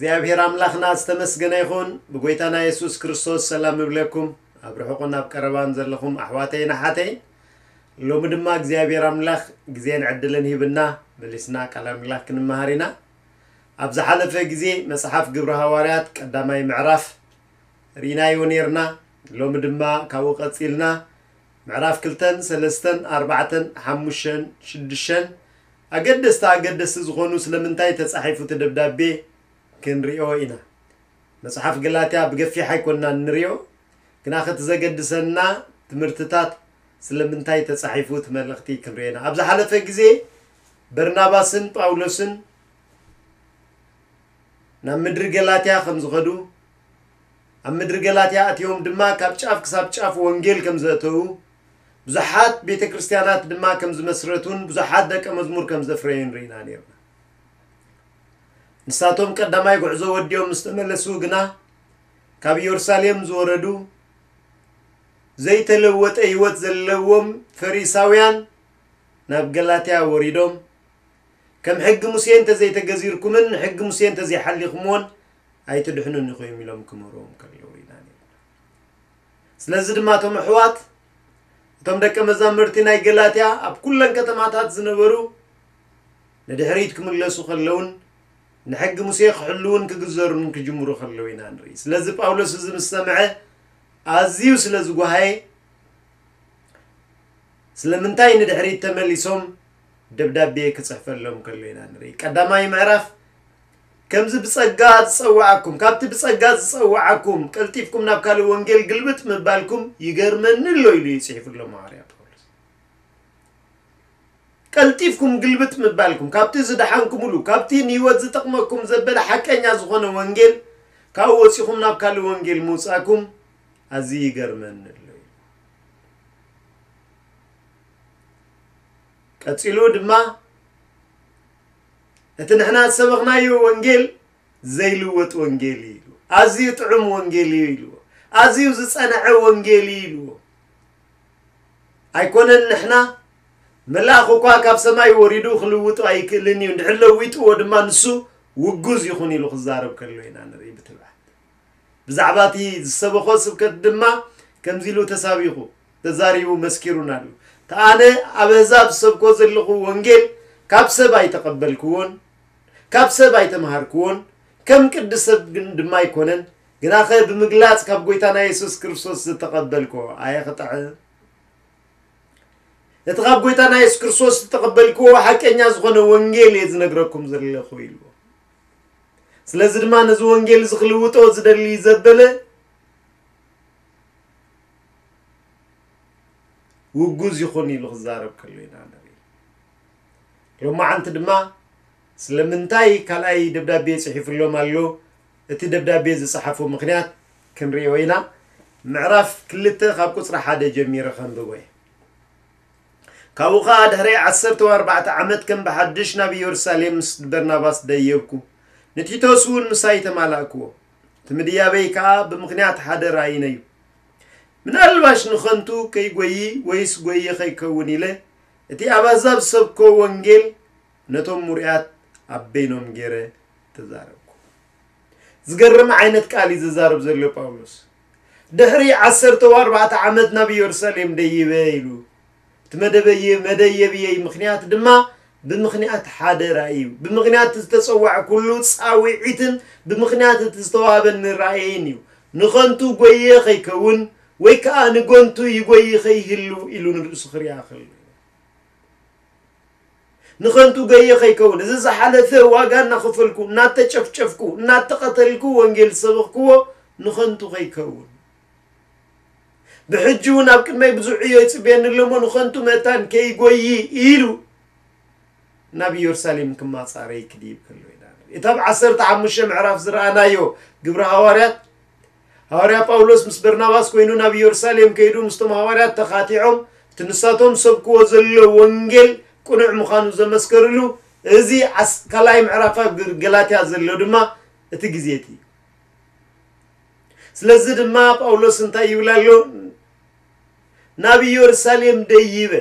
እግዚኣብሔር ኣምላኽና ዝተመስገነ ይኹን። ብጎይታና የሱስ ክርስቶስ ሰላም እብለኩም። ኣብ ርሑቕን ኣብ ቀረባን ዘለኹም ኣሕዋተይን ኣሓተይን፣ ሎሚ ድማ እግዚኣብሔር ኣምላኽ ግዜን ዕድልን ሂብና፣ መሊስና ቃል ኣምላኽ ክንመሃር ኢና። ኣብ ዝሓለፈ ግዜ መጽሓፍ ግብሪ ሃዋርያት ቀዳማይ ምዕራፍ ርኢናዮ ኔርና። ሎሚ ድማ ካብኡ ቀጺልና ምዕራፍ ክልተን ሰለስተን ኣርባዕተን ሓሙሽተን ሽዱሽተን ኣገደስቲ ኣገደስቲ ዝኾኑ ስለምንታይ ተጻሒፉ እቲ ደብዳቤ ክንሪኦ ኢና። መጽሓፍ ገላትያ ብገፊሕ ኣይኮንና እንሪኦ፣ ግና እቲ ዘገድሰና ትምህርትታት ስለምንታይ ተጻሒፉ እቲ መልእኽቲ ክንሪኦ ኢና። ኣብ ዝሓለፈ ግዜ በርናባስን ጳውሎስን ናብ ምድሪ ገላትያ ከም ዝኸዱ፣ ኣብ ምድሪ ገላትያ ኣትዮም ድማ ካብ ጫፍ ክሳብ ጫፍ ወንጌል ከም ዘእተዉ፣ ብዙሓት ቤተ ክርስቲያናት ድማ ከም ዝመስረቱን ብዙሓት ደቀ መዝሙር ከም ዘፍረዩን ርኢና ኔርና። ንሳቶም ቀዳማይ ጉዕዞ ወዲኦም ምስ ተመለሱ ግና፣ ካብ ኢየሩሳሌም ዝወረዱ ዘይተለወጠ ህይወት ዘለዎም ፈሪሳውያን ናብ ገላትያ ወሪዶም፣ ከም ሕጊ ሙሴ እንተዘይተገዚርኩምን ንሕጊ ሙሴ እንተዘይሓሊኹምዎን ኣይትድሕኑን ኢኹም ኢሎም ክምህርዎም ከለዉ ኢና ኔርና። ስለዚ ድማ እቶም ኣሕዋት፣ እቶም ደቀ መዛሙርቲ ናይ ገላትያ ኣብ ኩለን ከተማታት ዝነበሩ ንድሕሪት ክምለሱ ከለውን ንሕጊ ሙሴ ክሕልውን ክግዘሩን ክጅምሩ ከለዉ ኢና ንርኢ። ስለዚ ጳውሎስ እዚ ምስ ሰምዐ ኣዝዩ ስለ ዝጓሃየ፣ ስለምንታይ ንድሕሪት ተመሊሶም ደብዳቤ ክጽሕፈሎም ከሎ ኢና ንርኢ። ቀዳማይ ምዕራፍ፣ ከምዚ ብጸጋ ዝጸዋዓኩም፣ ካብቲ ብጸጋ ዝጸዋዓኩም ቀልጢፍኩም ናብ ካልእ ወንጌል ግልብጥ ምባልኩም ይገርመኒ ኣሎ ኢሉ እዩ ጽሒፉሎም ሃዋርያ ጳውሎስ። ቀልጢፍኩም ግልብጥ ምባልኩም፣ ካብቲ ዝደሓንኩምሉ፣ ካብቲ ንህይወት ዝጠቕመኩም ዘበለ ሓቀኛ ዝኾነ ወንጌል፣ ካብኡ ወጺኹም ናብ ካልእ ወንጌል ምውጻእኩም ኣዝዩ ይገርመኒ ኣሎ ኢሉ። ቀጺሉ ድማ፣ እቲ ንሕና ዝሰበኽናዮ ወንጌል ዘይልወጥ ወንጌል እዩ ኢሉ። ኣዝዩ ጥዑም ወንጌል እዩ ኢልዎ። ኣዝዩ ዝጸንዐ ወንጌል እዩ ኢልዎ። ኣይኮነን ንሕና፣ መልኣኽ እኳ ካብ ሰማይ ወሪዱ ክልውጦ ኣይክእልን እዩ፣ እንድሕር ለዊጥዎ ድማ ንሱ ውጉዝ ይኹን ኢሉ ክዛረብ ከሎ ኢና ንርኢ ብትብዓት። ብዛዕባ እቲ ዝሰበኾ ስብከት ድማ ከምዚ ኢሉ ተሳቢኹ፣ ተዛሪቡ፣ መስኪሩን ኣሎ። "እቲ ኣነ ኣብ ኣህዛብ ዝሰብኮ ዘለኹ ወንጌል ካብ ሰብ ኣይተቐበልክዎን፣ ካብ ሰብ ኣይተምሃርክዎን፣ ከም ቅዲ ሰብ ግን ድማ ኣይኮነን፣ ግናኸ ብምግላጽ ካብ ጐይታና የሱስ ክርስቶስ ዝተቐበልክዎ ኣየ ክጥዕም?" እቲ ካብ ጐይታና የሱስ ክርስቶስ ዝተቐበልክዎ ሓቀኛ ዝኾነ ወንጌል እየ ዝነግረኩም ዘለኹ ኢልዎ። ስለዚ ድማ ነዚ ወንጌል እዚ ክልውጦ ዝደሊ ዘበለ ውጉዝ ይኹን ኢሉ ክዛረብ ከሎ ኢና ንርኢ። ሎማዓንቲ ድማ ስለምንታይ ካልኣይ ደብዳቤ ጽሒፉሎም ኣሎ? እቲ ደብዳቤ ዝጸሓፎ ምኽንያት ክንርእዮ ኢና። ምዕራፍ ክልተ ካብ ቁጽሪ ሓደ ጀሚረ ከንብቦ እየ። ካብኡ ኸኣ ድሕሪ ዓሰርተ ኣርባዕተ ዓመት ከም ብሓድሽ ናብ ኢየሩሳሌም ምስ በርናባስ ደየብኩ። ንቲቶስ እውን ምሳይ ተማላእክዎ። እቲ ምድያበይ ከኣ ብምኽንያት ሓደ ራእይን እዩ። ምናልባሽ ንኸንቱ ከይጎዪ ወይስ ጎዪ ኸይከውን ኢለ፣ እቲ ኣብ ኣህዛብ ዝሰብኮ ወንጌል ነቶም ምሩያት ኣብ በይኖም ገይረ ተዛረብኩ። ዝገርም ዓይነት ቃል እዩ ዝዛረብ ዘሎ ጳውሎስ። ድሕሪ ዓሰርተ ኣርባዕተ ዓመት ናብ ኢየሩሳሌም ደይበ ኢሉ። እቲ መደበየ-፣ መደየብየይ ምኽንያት ድማ ብምኽንያት ሓደ ራእይ እዩ። ብምኽንያት ዝተጸዋዕኩሉ ጻውዒትን ብምኽንያት እቲ ዝተዋህበኒ ራእይን እዩ። ንኸንቱ ጎየ ኸይከውን ወይ ከኣ ንጎንቱ ይጎይ ኸይህሉ ኢሉ ንርእሱ ክሪኣ ከሎ። ንኸንቱ ገየ ኸይከውን፣ እዚ ዝሓለፈ ዋጋ እናኸፈልኩ፣ እናተጨፍጨፍኩ፣ እናተቐተልኩ ወንጌል ዝሰበኽክዎ ንኸንቱ ኸይከውን። ብሕጂ እውን ኣብ ቅድመይ ብዙሕ ዕዮ ይጽበየኒ ኣሎ እሞ ንኸንቱ መታን ከይጎዪ ኢሉ ናብ ኢየሩሳሌም ክማጻረይ ክድይብ ከሎ ኢና ንርኢ። እቲ ኣብ ዓሰርተ ሓሙሽተ ምዕራፍ ዝረኣናዮ ግብሪ ሃዋርያት፣ ሃዋርያ ጳውሎስ ምስ በርናባስ ኮይኑ ናብ ኢየሩሳሌም ከይዱ ምስቶም ሃዋርያት ተኻቲዖም እቲ ንሳቶም ዝሰብክዎ ዘሎ ወንጌል ቅኑዕ ምዃኑ ዘመስከርሉ፣ እዚ ዓስ-፣ ካልኣይ ምዕራፍ ኣብ ግር-፣ ገላትያ ዘሎ ድማ እቲ ግዜ እቲ እዩ። ስለዚ ድማ ጳውሎስ እንታይ ይብል ኣሎ? ናብ ኢየሩሳሌም ደይበ፣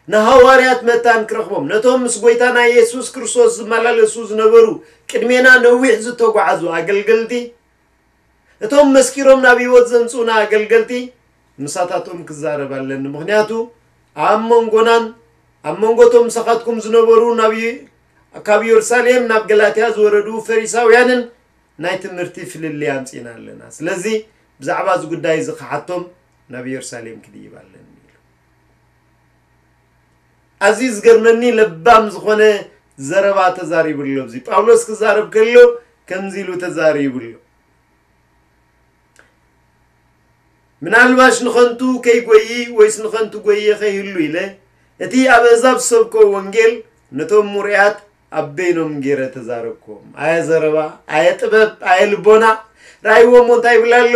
ንሃዋርያት መታን ክረኽቦም፣ ነቶም ምስ ጎይታና የሱስ ክርስቶስ ዝመላለሱ ዝነበሩ፣ ቅድሜና ነዊሕ ዝተጓዓዙ ኣገልገልቲ፣ እቶም መስኪሮም ናብ ህይወት ዘምጽኡና ኣገልገልቲ፣ ምሳታቶም ክዛረብ ኣለኒ። ምኽንያቱ ኣብ መንጎናን ኣብ መንጎቶም ምሳኻትኩም ዝነበሩ፣ ናብ የ-፣ ካብ የሩሳሌም ናብ ገላትያ ዝወረዱ ፈሪሳውያንን ናይ ትምህርቲ ፍልልይ ኣምጺእና ኣለና። ስለዚ ብዛዕባ እዚ ጉዳይ እዚ ክሓቶም ናብ የሩሳሌም ክድይብ ኣለኒ ኢሉ። ኣዝዩ ዝገርመኒ ለባም ዝኾነ ዘረባ ተዛሪቡ ኣሎ። እዚ ጳውሎስ ክዛረብ ከሎ ከምዚ ኢሉ ተዛሪቡ ኣሎ። ምናልባሽ ንኸንቱ ከይጎዪ ወይስ ንኸንቱ ጎዪ ከይህሉ ኢለ፣ እቲ ኣብ ኣህዛብ ዝሰብኮ ወንጌል ነቶም ሙርያት ኣብ በይኖም ገይረ ተዛረብክዎም። ኣየ ዘረባ፣ ኣየ ጥበብ፣ ኣየ ልቦና። ራእይዎ እሞ እንታይ ይብል ኣሎ?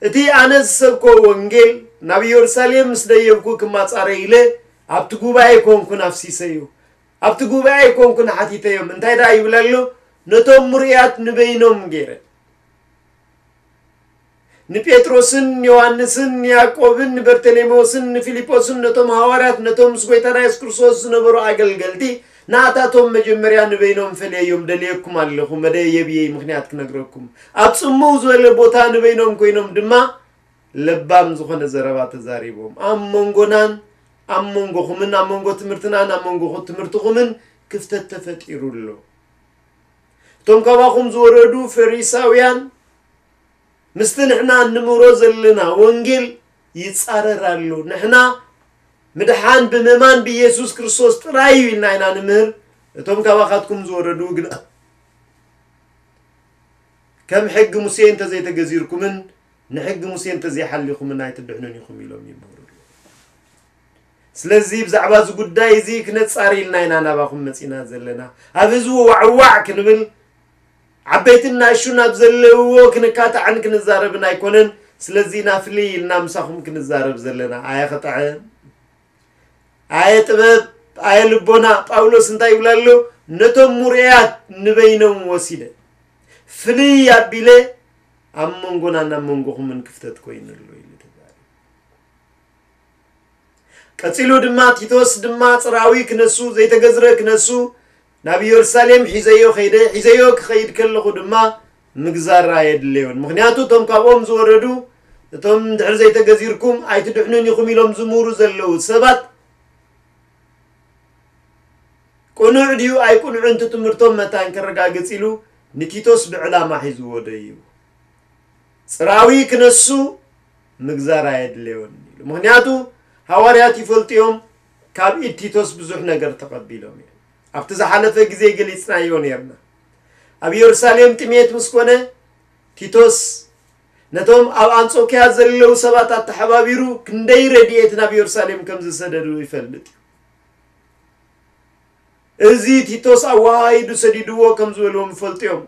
እቲ ኣነ ዝሰብኮ ወንጌል ናብ ኢየሩሳሌም ምስ ደየብኩ ክማጻረ ኢለ ኣብቲ ጉባኤ ኮንኩን ኣፍሲሰዮ። ኣብቲ ጉባኤ ኮንኩን ሓቲተዮም። እንታይ ደኣ ይብል ኣሎ? ነቶም ሙርያት ንበይኖም ገይረ። ንጴጥሮስን ዮሃንስን ንያዕቆብን ንበርተሌሜዎስን ንፊልጶስን ነቶም ሃዋርያት ነቶም ምስ ጎይታና የሱስ ክርስቶስ ዝነበሩ ኣገልገልቲ ናታቶም መጀመርያ ንበይኖም ፈልየዮም ደልየኩም ኣለኹ። መደየብየይ ምኽንያት ክነግረኩም። ኣብ ጽምው ዝበለ ቦታ ንበይኖም ኮይኖም ድማ ለባም ዝኾነ ዘረባ ተዛሪቦም። ኣብ መንጎናን ኣብ መንጎኹምን ኣብ መንጎ ትምህርትናን ኣብ መንጎ ትምህርትኹምን ክፍተት ተፈጢሩ ኣሎ። እቶም ካባኹም ዝወረዱ ፈሪሳውያን ምስቲ ንሕና እንምህሮ ዘለና ወንጌል ይጻረር ኣሎ። ንሕና ምድሓን ብምእማን ብኢየሱስ ክርስቶስ ጥራይ እዩ ኢልና ኢና ንምህር። እቶም ካባኻትኩም ዝወረዱ ግና ከም ሕጊ ሙሴ እንተዘይተገዚርኩምን ንሕጊ ሙሴ እንተዘይሓሊኹምን ኣይትድሕኑን ኢኹም ኢሎም ይምህሩ ኣለዉ። ስለዚ ብዛዕባ እዚ ጉዳይ እዚ ክነጻሪ ኢልና ኢና ናባኹም መጺና ዘለና። ኣብ ህዝቢ ዋዕዋዕ ክንብል ዓበይትን ናእሹን ኣብ ዘለውዎ ክንካታዕን ክንዛረብን ኣይኮነን። ስለዚ ኢና ፍልይ ኢልና ምሳኹም ክንዛረብ ዘለና። ኣየ ክጥዕም፣ ኣየ ጥበብ፣ ኣየ ልቦና። ጳውሎስ እንታይ ይብል ኣሎ? ነቶም ሙርያት ንበይኖም ወሲደ ፍልይ ኣቢለ ኣብ መንጎናን ኣብ መንጎኹምን ክፍተት ኮይኑ ኣሎ ኢሉ ተዛሪቡ። ቀጺሉ ድማ ቲቶስ ድማ ጽርኣዊ ክነሱ፣ ዘይተገዝረ ክነሱ ናብ ኢየሩሳሌም ሒዘዮ ከይደ፣ ሒዘዮ ክኸይድ ከለኹ ድማ ምግዛር ኣየድለዮን። ምኽንያቱ እቶም ካብኦም ዝወረዱ፣ እቶም ድሕሪ ዘይተገዚርኩም ኣይትድሕኑን ኢኹም ኢሎም ዝምህሩ ዘለዉ ሰባት ቅኑዕ ድዩ ኣይቅኑዕን እቲ ትምህርቶም መታን ከረጋግጽ ኢሉ ንቲቶስ ብዕላማ ሒዝዎ ደይቡ። ጽርኣዊ ክነሱ ምግዛር ኣየድለዮን ኢሉ። ምኽንያቱ ሃዋርያት ይፈልጡ እዮም፣ ካብ ኢድ ቲቶስ ብዙሕ ነገር ተቐቢሎም እዮም። ኣብቲ ዝሓለፈ ግዜ ገሊጽናዮ ነርና። ኣብ የሩሳሌም ጥሜት ምስ ኮነ ቲቶስ ነቶም ኣብ ኣንጾክያ ዘለዉ ሰባት ኣተሓባቢሩ ክንደይ ረድኤት ናብ የሩሳሌም ከም ዝሰደዱ ይፈልጥ እዩ። እዚ ቲቶስ ኣወሃሂዱ ሰዲድዎ ከም ዝበልዎም ይፈልጡ እዮም።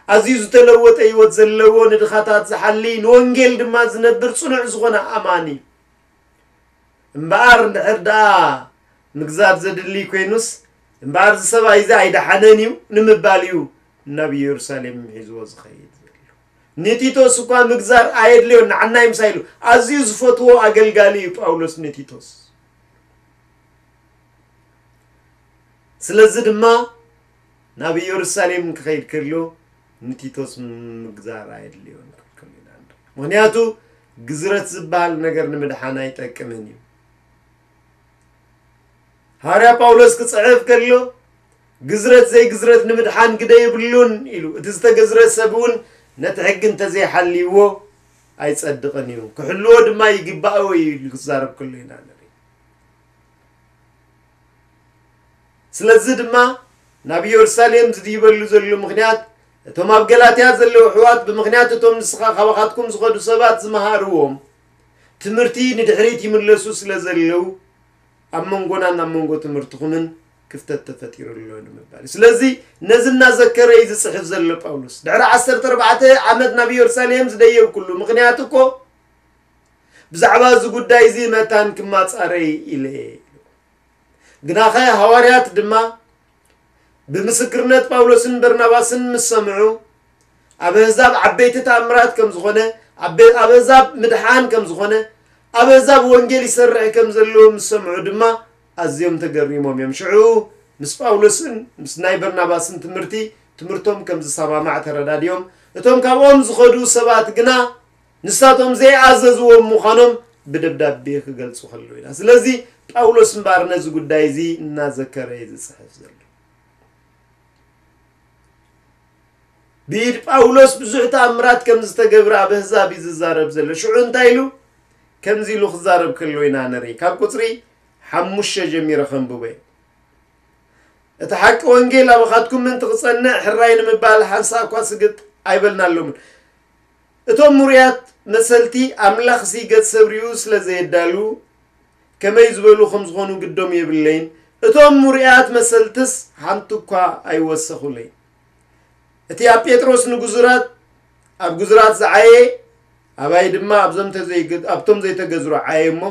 ኣዝዩ ዝተለወጠ ህይወት ዘለዎ፣ ንድኻታት ዝሓሊ፣ ንወንጌል ድማ ዝነብር ጽኑዕ ዝኾነ ኣማኒ እዩ። እምበኣር እንድሕር ደኣ ምግዛር ዘድሊ ኮይኑስ፣ እምበኣር እዚ ሰብኣይ እዚ ኣይደሓነን እዩ ንምባል እዩ ናብ ኢየሩሳሌም ሒዝዎ ዝኸይድ ዘሎ። ንቲቶስ እኳ ምግዛር ኣየድልዮን፣ ንዓናይ ምሳይ ኢሉ። ኣዝዩ ዝፈትዎ ኣገልጋሊ እዩ ጳውሎስ ንቲቶስ። ስለዚ ድማ ናብ ኢየሩሳሌም ክኸይድ ከሎ ንቲቶስ ምግዛር ኣየድልዮን ክብል ከሎ ኢና ንርኢ። ምኽንያቱ ግዝረት ዝበሃል ነገር ንምድሓን ኣይጠቅምን እዩ። ሃዋርያ ጳውሎስ ክጽሕፍ ከሎ ግዝረት ዘይግዝረት ንምድሓን ግደ የብሉን ኢሉ። እቲ ዝተገዝረ ሰብ እውን ነቲ ሕጊ እንተዘይሓልይዎ ኣይጸድቕን እዩ። ክሕልዎ ድማ ይግባእ ወይ ኢሉ ክዛረብ ከሎ ኢና ንርኢ። ስለዚ ድማ ናብ ኢየሩሳሌም ዝድይበሉ ዘሎ ምኽንያት እቶም ኣብ ገላትያ ዘለዉ ኣሕዋት ብምኽንያት እቶም ንስኻ ካባኻትኩም ዝኸዱ ሰባት ዝመሃርዎም ትምህርቲ ንድሕሪት ይምለሱ ስለ ዘለዉ ኣብ መንጎናን ኣብ መንጎ ትምህርትኹምን ክፍተት ተፈጢሩ ኣሎ ንምባል እዩ። ስለዚ ነዚ እናዘከረ እዩ ዝጽሕፍ ዘሎ ጳውሎስ። ድሕሪ ዓሰርተ ኣርባዕተ ዓመት ናብ ኢየሩሳሌም ዝደየብኩሉ ምኽንያት እኮ ብዛዕባ እዚ ጉዳይ እዚ መታን ክማጻረይ ኢለ እየ። ግናኸ ሃዋርያት ድማ ብምስክርነት ጳውሎስን በርናባስን ምስ ሰምዑ ኣብ ኣህዛብ ዓበይቲ ተኣምራት ከም ዝኾነ፣ ኣብ ኣህዛብ ምድሓን ከም ዝኾነ፣ ኣብ ኣህዛብ ወንጌል ይሰርሕ ከም ዘለዎ ምስ ሰምዑ ድማ ኣዝዮም ተገሪሞም እዮም። ሽዑ ምስ ጳውሎስን ምስ ናይ በርናባስን ትምህርቲ፣ ትምህርቶም ከም ዝሰማማዕ ተረዳድዮም። እቶም ካብኦም ዝኸዱ ሰባት ግና ንሳቶም ዘይኣዘዝዎም ምዃኖም ብደብዳቤ ክገልጹ ከለዉ ኢና። ስለዚ ጳውሎስ እምበኣር ነዚ ጉዳይ እዚ እናዘከረ እዩ ዝጽሕፍ ዘሎ። ብኢድ ጳውሎስ ብዙሕ ተኣምራት ከም ዝተገብረ ኣብ ኣህዛብ እዩ ዝዛረብ ዘሎ። ሽዑ እንታይ ኢሉ? ከምዚ ኢሉ ክዛረብ ከሎ ኢና ንርኢ። ካብ ቁጽሪ ሓሙሽተ ጀሚረ ከንብቦ እየ። እቲ ሓቂ ወንጌል ኣባኻትኩም ምእንቲ ክጸንዕ ሕራይ ንምባል ሓንሳእ እኳ ስግጥ ኣይበልናሎምን። እቶም ምሩያት መሰልቲ ኣምላኽሲ ገጽ ሰብ ርእዩ ስለ ዘየዳሉ ከመይ ዝበሉ ከም ዝኾኑ ግዶም የብለይን። እቶም ምሩያት መሰልትስ ሓንቲ እኳ ኣይወሰኹለይን። እቲ ኣብ ጴጥሮስ ንግዙራት ኣብ ግዙራት ዝዓየ ኣባይ ድማ ኣብዞም ተዘይግ- ኣብቶም ዘይተገዝሩ ዓየ እሞ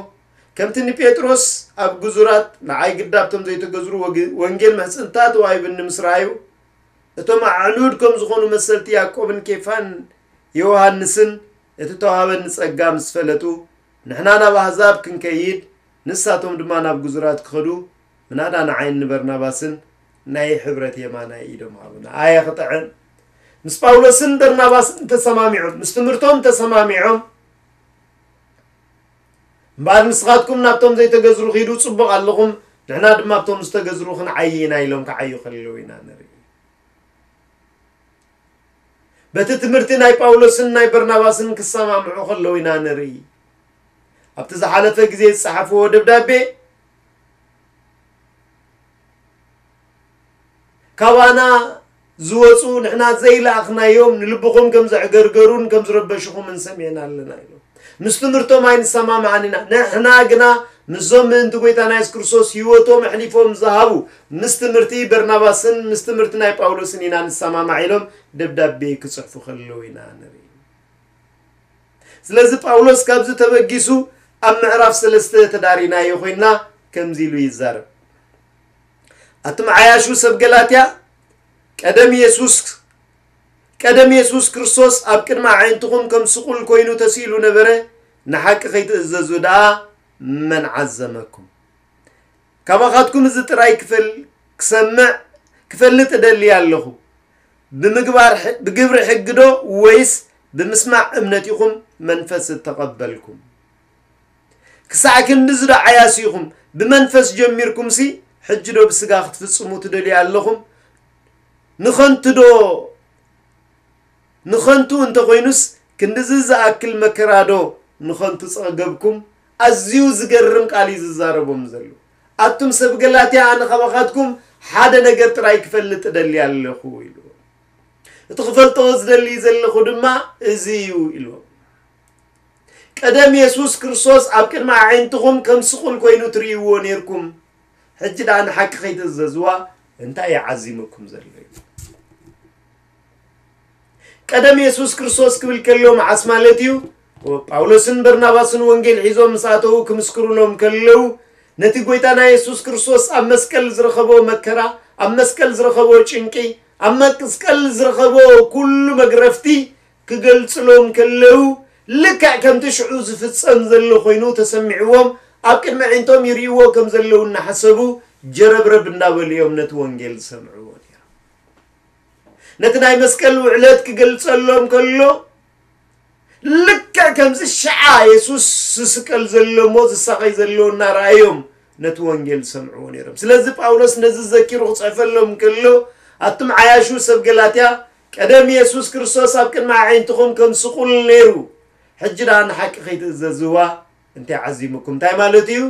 ከምቲ ንጴጥሮስ ኣብ ግዙራት ንዓይ ግዳ ኣብቶም ዘይተገዝሩ ወግ- ወንጌል ምሕጽንታ ተዋሂብኒ ምስ ረኣዩ እቶም ኣዕኑድ ከም ዝኾኑ መሰልቲ ያዕቆብን ኬፋን ዮሃንስን እቲ ተዋሃበኒ ጸጋ ምስ ፈለጡ ንሕና ናብ ኣህዛብ ክንከይድ ንሳቶም ድማ ናብ ግዙራት ክኸዱ ምናዳ ንዓይን ንበርናባስን ናይ ሕብረት የማናይ ኢዶም ሃቡና። ኣየ ክጥዕም! ምስ ጳውሎስን በርናባስን ተሰማሚዖም፣ ምስ ትምህርቶም ተሰማሚዖም፣ እምበኣር ንስኻትኩም ናብቶም ዘይተገዝሩ ኺዱ፣ ጽቡቕ ኣለኹም፣ ንሕና ድማ ኣብቶም ዝተገዝሩ ክንዓዪ ኢና ኢሎም ክዓዩ ከለዉ ኢና ንርኢ። በቲ ትምህርቲ ናይ ጳውሎስን ናይ በርናባስን ክሰማምዑ ከለዉ ኢና ንርኢ። ኣብቲ ዝሓለፈ ግዜ ዝጸሓፍዎ ደብዳቤ፣ ካባና ዝወጹ ንሕና ዘይለኣኽናዮም ንልብኹም ከም ዘዕገርገሩን ከም ዝረበሽኹምን ሰሚዕና ኣለና ኢሎም። ምስ ትምህርቶም ኣይንሰማማዕን ኢና። ንሕና ግና ምስዞም ምእንቲ ጐይታና የሱስ ክርስቶስ ህይወቶም ኣሕሊፎም ዝሃቡ ምስ ትምህርቲ በርናባስን ምስ ትምህርቲ ናይ ጳውሎስን ኢና ንሰማማዕ ኢሎም ደብዳቤ ክጽሕፉ ከለዉ ኢና ንርኢ። ስለዚ ጳውሎስ ካብዚ ተበጊሱ ኣብ ምዕራፍ ሰለስተ ተዳሪናዮ ኮይንና ከምዚ ኢሉ ይዛረብ። ኣቱም ዓያሹ ሰብ ገላትያ፣ ቀደም የሱስ ቀደም የሱስ ክርስቶስ ኣብ ቅድሚ ኣዒንትኹም ከም ስቑል ኮይኑ ተስኢሉ ነበረ፣ ንሓቂ ከይትእዘዙ ደኣ መን ዓዘመኩም? ካባኻትኩም እዚ ጥራይ ክፈል ክሰምዕ ክፈልጥ እደሊ ኣለኹ። ብምግባር ሕ- ብግብሪ ሕጊ ዶ ወይስ ብምስማዕ እምነት ኢኹም መንፈስ እተቐበልኩም? ክሳዕ ክንድዚ ዶ ዓያሲ ኢኹም? ብመንፈስ ጀሚርኩምሲ ሕጂ ዶ ብስጋ ክትፍጽሙ ትደልዩ ኣለኹም? ንኸንቱ ዶ ንኸንቱ እንተኾይኑስ ክንድዚ ዝኣክል መከራ ዶ ንኸንቱ ጸገብኩም? ኣዝዩ ዝገርም ቃል እዩ ዝዛረቦም ዘሎ። ኣቱም ሰብ ገላትያ፣ ኣነ ካባኻትኩም ሓደ ነገር ጥራይ ክፈልጥ እደሊ ኣለኹ ኢሉ። እቲ ክፈልጦ ዝደሊ ዘለኹ ድማ እዚ እዩ ኢሉ። ቀደም የሱስ ክርስቶስ ኣብ ቅድሚ ኣዒንትኹም ከም ስቑል ኮይኑ ትርእይዎ ነይርኩም። ሕጂ ደኣ ንሓቂ ከይትእዘዝዋ እንታይ እዩ ዓዚምኩም ዘሎ? ቀደም የሱስ ክርስቶስ ክብል ከሎ መዓስ ማለት እዩ? ጳውሎስን በርናባስን ወንጌል ሒዞም ምስ ኣተዉ ክምስክሩሎም ከለዉ ነቲ ጐይታና የሱስ ክርስቶስ ኣብ መስቀል ዝረኸቦ መከራ፣ ኣብ መስቀል ዝረኸቦ ጭንቂ፣ ኣብ መስቀል ዝረኸቦ ኩሉ መግረፍቲ ክገልጽሎም ከለዉ ልክዕ ከምቲ ሽዑ ዝፍጸም ዘሎ ኮይኑ ተሰሚዕዎም ኣብ ቅድሚ ኣዒንቶም ይርእይዎ ከም ዘለዉ እናሓሰቡ ጀረብረብ እንዳበሉ እዮም ነቲ ወንጌል ዝሰምዕዎ ነይሮም። ነቲ ናይ መስቀል ውዕለት ክገልጸሎም ከሎ ልክዕ ከምዚ ሽዓ የሱስ ዝስቀል ዘሎ እሞ ዝሳቐይ ዘሎ እናረኣዮም ነቲ ወንጌል ዝሰምዕዎ ነይሮም። ስለዚ ጳውሎስ ነዚ ዘኪሩ ክጽሕፈሎም ከሎ ኣቱም ዓያሹ ሰብ ገላትያ ቀደም የሱስ ክርስቶስ ኣብ ቅድሚ ኣዒንትኹም ከም ስቑል ነይሩ፣ ሕጂ ደኣ ንሓቂ ከይትእዘዝዋ እንታይ ዓዚሙኩም? እንታይ ማለት እዩ?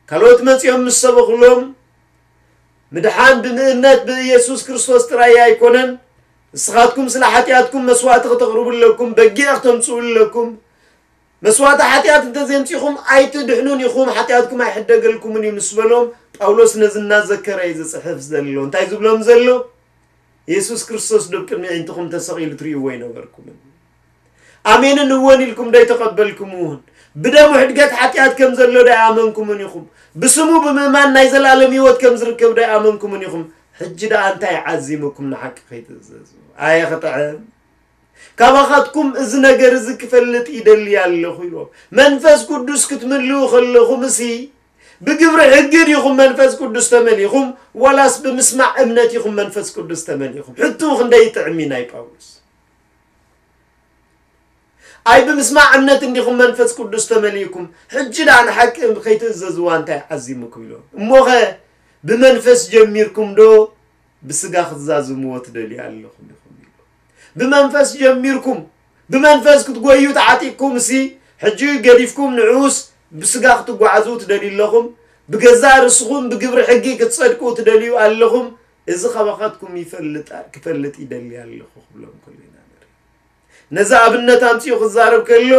ካልኦት መጺኦም ምስ ሰበኹሎም ምድሓን ብምእነት ብኢየሱስ ክርስቶስ ጥራይ ኣይኮነን። ንስኻትኩም ስለ ሓጢኣትኩም መስዋእቲ ክተቕርቡ ኣለኩም፣ በጊዕ ክተምጽኡ ኣለኩም። መስዋእቲ ሓጢኣት እንተዘይምጺኹም ኣይትድሕኑን ኢኹም፣ ሓጢኣትኩም ኣይሕደገልኩምን እዩ ምስ በሎም ጳውሎስ ነዚ እናዘከረ እዩ ዝጽሕፍ ዘሎ። እንታይ ዝብሎም ዘሎ? የሱስ ክርስቶስ ዶ ኣብ ቅድሚ ኣዒንትኹም ተሰቒሉ ትርእይዎ ኣይነበርኩምን? ኣሜንን እወን ኢልኩም ዶ ኣይተቐበልኩምዎን? ብደሙ ሕድገት ሓጢኣት ከም ዘሎ ዶ ኣይኣመንኩምን ኢኹም? ብስሙ ብምእማን ናይ ዘለኣለም ህይወት ከም ዝርከብ ዶ ኣይኣመንኩምን ኢኹም? ሕጂ ደኣ እንታይ ዓዚሙኩም ንሓቂ ከይትእዘዙ? ኣየ ክጥዕም! ካባኻትኩም እዚ ነገር እዚ ክፈልጥ ይደሊ ኣለኹ ኢልዎም። መንፈስ ቅዱስ ክትምልኡ ከለኹምሲ ብግብሪ ሕጊ ዲኹም መንፈስ ቅዱስ ተመሊኹም፣ ዋላስ ብምስማዕ እምነት ኢኹም መንፈስ ቅዱስ ተመሊኹም? ሕቱ ክንደይ ጥዕሚ ናይ ጳውሎስ። ኣይ ብምስማዕ እምነት እንዲኹም መንፈስ ቅዱስ ተመሊእኩም፣ ሕጂ ደኣ ንሓቂ ከይትእዘዝዋ እንታይ ዓዚሙኩም ኢሎም። እሞኸ ብመንፈስ ጀሚርኩም ዶ ብስጋ ክትዛዝምዎ ትደልዩ ኣለኹም ኢኹም ኢሉ። ብመንፈስ ጀሚርኩም፣ ብመንፈስ ክትጎዩ ተዓጢቅኩም ሲ፣ ሕጂ ገዲፍኩም ንዑስ ብስጋ ክትጓዓዙ ትደልዩ ኣለኹም፣ ብገዛእ ርእስኹም ብግብሪ ሕጊ ክትጸድቁ ትደልዩ ኣለኹም፣ እዚ ካባኻትኩም ይፈልጥ፣ ክፈልጥ ይደሊ ኣለኹ ክብሎም ከሎ ኢና ንርኢ። ነዚ ኣብነት ኣምጺኡ ክዛረብ ከሎ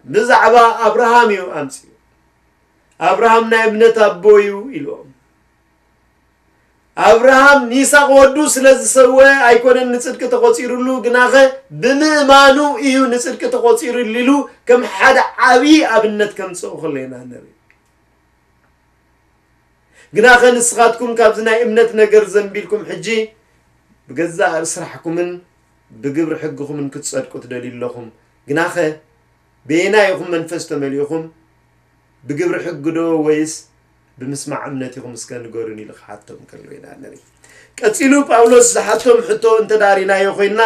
ብዛዕባ ኣብርሃም እዩ ኣምጺኡ። ኣብርሃም ናይ እምነት ኣቦ እዩ ኢልዎም። ኣብርሃም ንይስሐቅ ወዱ ስለ ዝሰወ ኣይኮነን ንጽድቂ ተቖጺሩሉ፣ ግናኸ ብምእማኑ እዩ ንጽድቂ ተቖጺሩሉ ኢሉ ከም ሓደ ዓብዪ ኣብነት ከምጽኦ ከሎ ኢና ንርኢ። ግናኸ ንስኻትኩም ካብዚ ናይ እምነት ነገር ዘንቢልኩም ሕጂ ብገዛእ ስራሕኩምን ብግብሪ ሕግኹምን ክትጸድቁ ትደልዩ ኣለኹም። ግናኸ በየናይ ኢኹም መንፈስ ተመሊእኹም? ብግብሪ ሕጊ ዶ ወይስ ብምስማዕ እምነት ኢኹም እስከ ንገሩኒ ኢሉ ክሓቶም ከሎ ኢና ንርኢ። ቀጺሉ ጳውሎስ ዝሓቶም ሕቶ እንተ ዳሪናዮ ኮይንና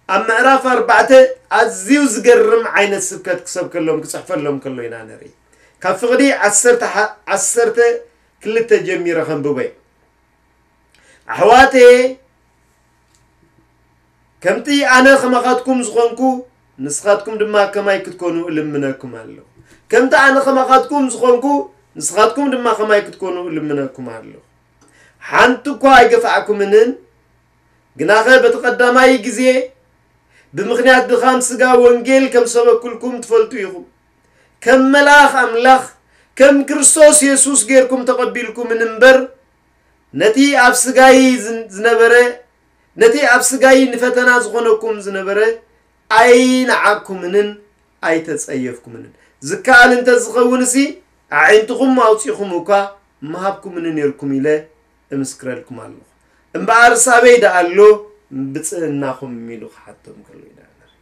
ኣብ ምዕራፍ ኣርባዕተ ኣዝዩ ዝገርም ዓይነት ስብከት ክሰብከሎም ክጽሕፈሎም ከሎ ኢና ንርኢ። ካብ ፍቕዲ ዓሰርተ ሓ-፣ ዓሰርተ ክልተ ጀሚረ ከንብቦ እየ። ኣሕዋተየ፣ ከምቲ ኣነ ከማኻትኩም ዝኾንኩ፣ ንስኻትኩም ድማ ከማይ ክትኮኑ እልምነኩም ኣለኹ። ከምቲ ኣነ ከማኻትኩም ዝኾንኩ፣ ንስኻትኩም ድማ ከማይ ክትኮኑ እልምነኩም ኣለኹ። ሓንቲ እኳ ኣይገፋዕኩምንን፣ ግናኸ በቲ ቀዳማይ ግዜ ብምኽንያት ድኻም ስጋ ወንጌል ከም ሰበኩልኩም ትፈልጡ ኢኹም። ከም መልኣኽ ኣምላኽ፣ ከም ክርስቶስ የሱስ ጌርኩም ተቐቢልኩምን እምበር፣ ነቲ ኣብ ስጋይ ዝን-፣ ዝነበረ፣ ነቲ ኣብ ስጋይ ንፈተና ዝኾነኩም ዝነበረ ኣይነዓቅኩምንን ኣይተጸየፍኩምንን። ዝከኣል እንተ ዝኸውን ሲ፣ ኣዒንትኹም ኣውጺኹም እኳ ምሃብኩምኒ ኔርኩም ኢለ እምስክረልኩም ኣለኹ። እምበኣርስ ኣበይ ደኣ ኣሎ ብጽእናኹም? ኢሉ ክሓቶም ከሎ ኢና ንርኢ።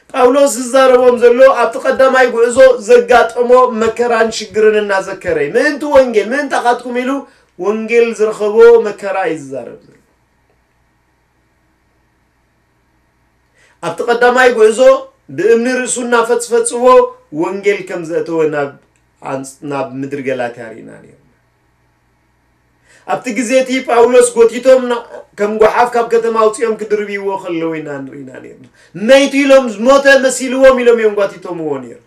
ጳውሎስ ዝዛረቦም ዘሎ ኣብቲ ቀዳማይ ጉዕዞ ዘጋጠሞ መከራን ሽግርን እናዘከረ እዩ። ምእንቲ ወንጌል፣ ምእንታኻትኩም ኢሉ ወንጌል ዝረኸቦ መከራ እዩ ዝዛረብ ዘሎ። ኣብቲ ቀዳማይ ጉዕዞ ብእምኒ ርእሱ እናፈጽፈጽዎ ወንጌል ከም ዘእተወ ናብ ኣንጽ-፣ ናብ ምድሪ ገላትያ ርኢና ነይርና። ኣብቲ ግዜ እቲ ጳውሎስ ጎቲቶም ና-፣ ከም ጓሓፍ ካብ ከተማ ኣውጺኦም ክድርብይዎ ከለዉ ኢና ንርኢና ነይርና። መይቱ ኢሎም፣ ዝሞተ መሲልዎም ኢሎም እዮም ጓቲቶምዎ ነይሩ።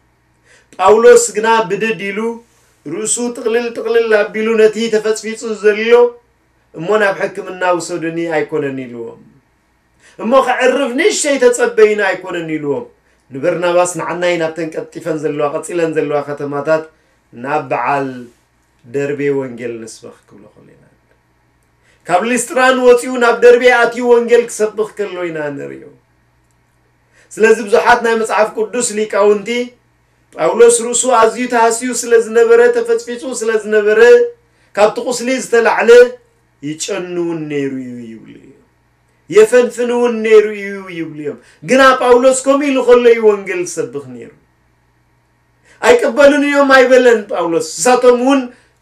ጳውሎስ ግና ብድድ ኢሉ ርእሱ ጥቕልል ጥቕልል ኣቢሉ ነቲ ተፈጽፊጹ ዘሎ እሞ ናብ ሕክምና ውሰዱኒ ኣይኮነን ኢልዎም። እሞ ከዕርፍ ንእሽተይ ተጸበዩኒ ኣይኮነን ኢልዎም። ንበርናባስ ንዓናይ ናብተን ቀልጢፈን ዘለዋ፣ ቀጺለን ዘለዋ ከተማታት ናብ በዓል ደርቤ ወንጌል ንስበኽ ክብሎ ከሎ ኢና። ካብ ሊስጥራን ወጺኡ ናብ ደርቤ ኣትዩ ወንጌል ክሰብኽ ከሎ ኢና ንርእዮ። ስለዚ ብዙሓት ናይ መጽሓፍ ቅዱስ ሊቃውንቲ ጳውሎስ ርእሱ ኣዝዩ ተሃስዩ ስለ ዝነበረ፣ ተፈጽፊጹ ስለ ዝነበረ፣ ካብቲ ቁስሊ ዝተላዕለ ይጨኑ እውን ነይሩ እዩ ይብሉ እዮም። የፈንፍን እውን ነይሩ እዩ ይብሉ እዮም። ግና ጳውሎስ ከምኡ ኢሉ ከሎ እዩ ወንጌል ዝሰብኽ ነይሩ። ኣይቅበሉን እዮም ኣይበለን ጳውሎስ። ንሳቶም እውን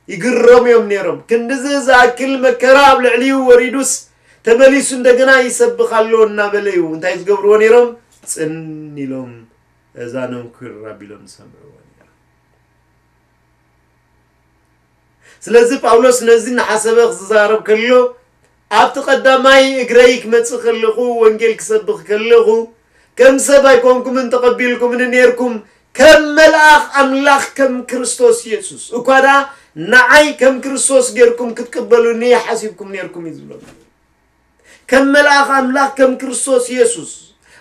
ይግረሙ እዮም ነይሮም። ክንድዚ ዝኣክል መከራ ኣብ ልዕሊኡ ወሪዱስ ተመሊሱ እንደገና ይሰብኽ ኣሎ እናበለ እዩ እንታይ ዝገብርዎ ነይሮም? ጽን ኢሎም፣ እዛኖም ኩር ኣቢሎም ዝሰምዕዎ ነይሮም። ስለዚ ጳውሎስ ነዚ እናሓሰበ ክዛረብ ከሎ፣ ኣብቲ ቀዳማይ እግረይ ክመጽእ ከለኹ፣ ወንጌል ክሰብኽ ከለኹ፣ ከም ሰብ ኣይኮንኩምን ተቐቢልኩምኒ ነይርኩም፣ ከም መልኣኽ ኣምላኽ፣ ከም ክርስቶስ የሱስ እኳ ደኣ ንዓይ ከም ክርስቶስ ጌርኩም ክትቅበሉኒ ሓሲብኩም ነይርኩም እዩ ዝብሎም። ከም መልኣኽ ኣምላኽ፣ ከም ክርስቶስ የሱስ፣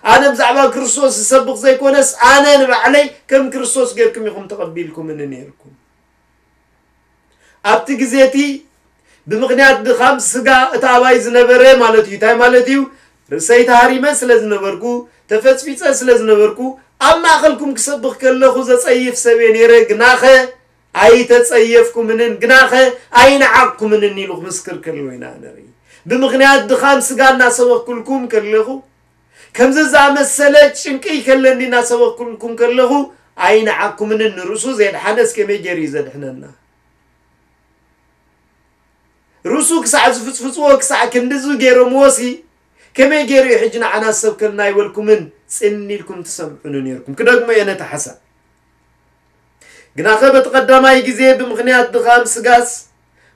ኣነ ብዛዕባ ክርስቶስ ዝሰብኽ ዘይኮነስ፣ ኣነ ንባዕለይ ከም ክርስቶስ ጌርኩም ኢኹም ተቐቢልኩምኒ ነይርኩም። ኣብቲ ግዜ እቲ ብምኽንያት ድኻም ስጋ እቲ ኣባይ ዝነበረ ማለት እዩ። እንታይ ማለት እዩ? ርእሰይ ተሃሪመ ስለ ዝነበርኩ፣ ተፈጽፊጸ ስለ ዝነበርኩ፣ ኣብ ማእከልኩም ክሰብኽ ከለኹ ዘጸይፍ ሰብ እየ ነይረ፣ ግናኸ ኣይተጸየፍኩምንን፣ ግናኸ ኣይነዓቕኩምንን ኢሉ ክምስክር ከሎ ኢና ንርኢ። ብምኽንያት ድኻም ስጋ እናሰበኽኩልኩም ከለኹ፣ ከምዚ ዝኣመሰለ ጭንቂ ከለኒ እናሰበኽኩልኩም ከለኹ፣ ኣይነዓቕኩምንን። ንርእሱ ዘየድሓነስ ከመይ ገይሩ እዩ ዘድሕነና? ርእሱ ክሳዕ ዝፍጽፍጽዎ፣ ክሳዕ ክንድዚ ገይሮምዎሲ፣ ከመይ ገይሩ እዩ ሕጂ ንዓና ዝሰብከልና ኣይበልኩምን፣ ጽን ኢልኩም ትሰምዑኒ ነይርኩም። ክደግሞ እየ ነቲ ሓሳብ። ግናኸ በቲ ቀዳማይ ግዜ ብምኽንያት ድኻም ስጋስ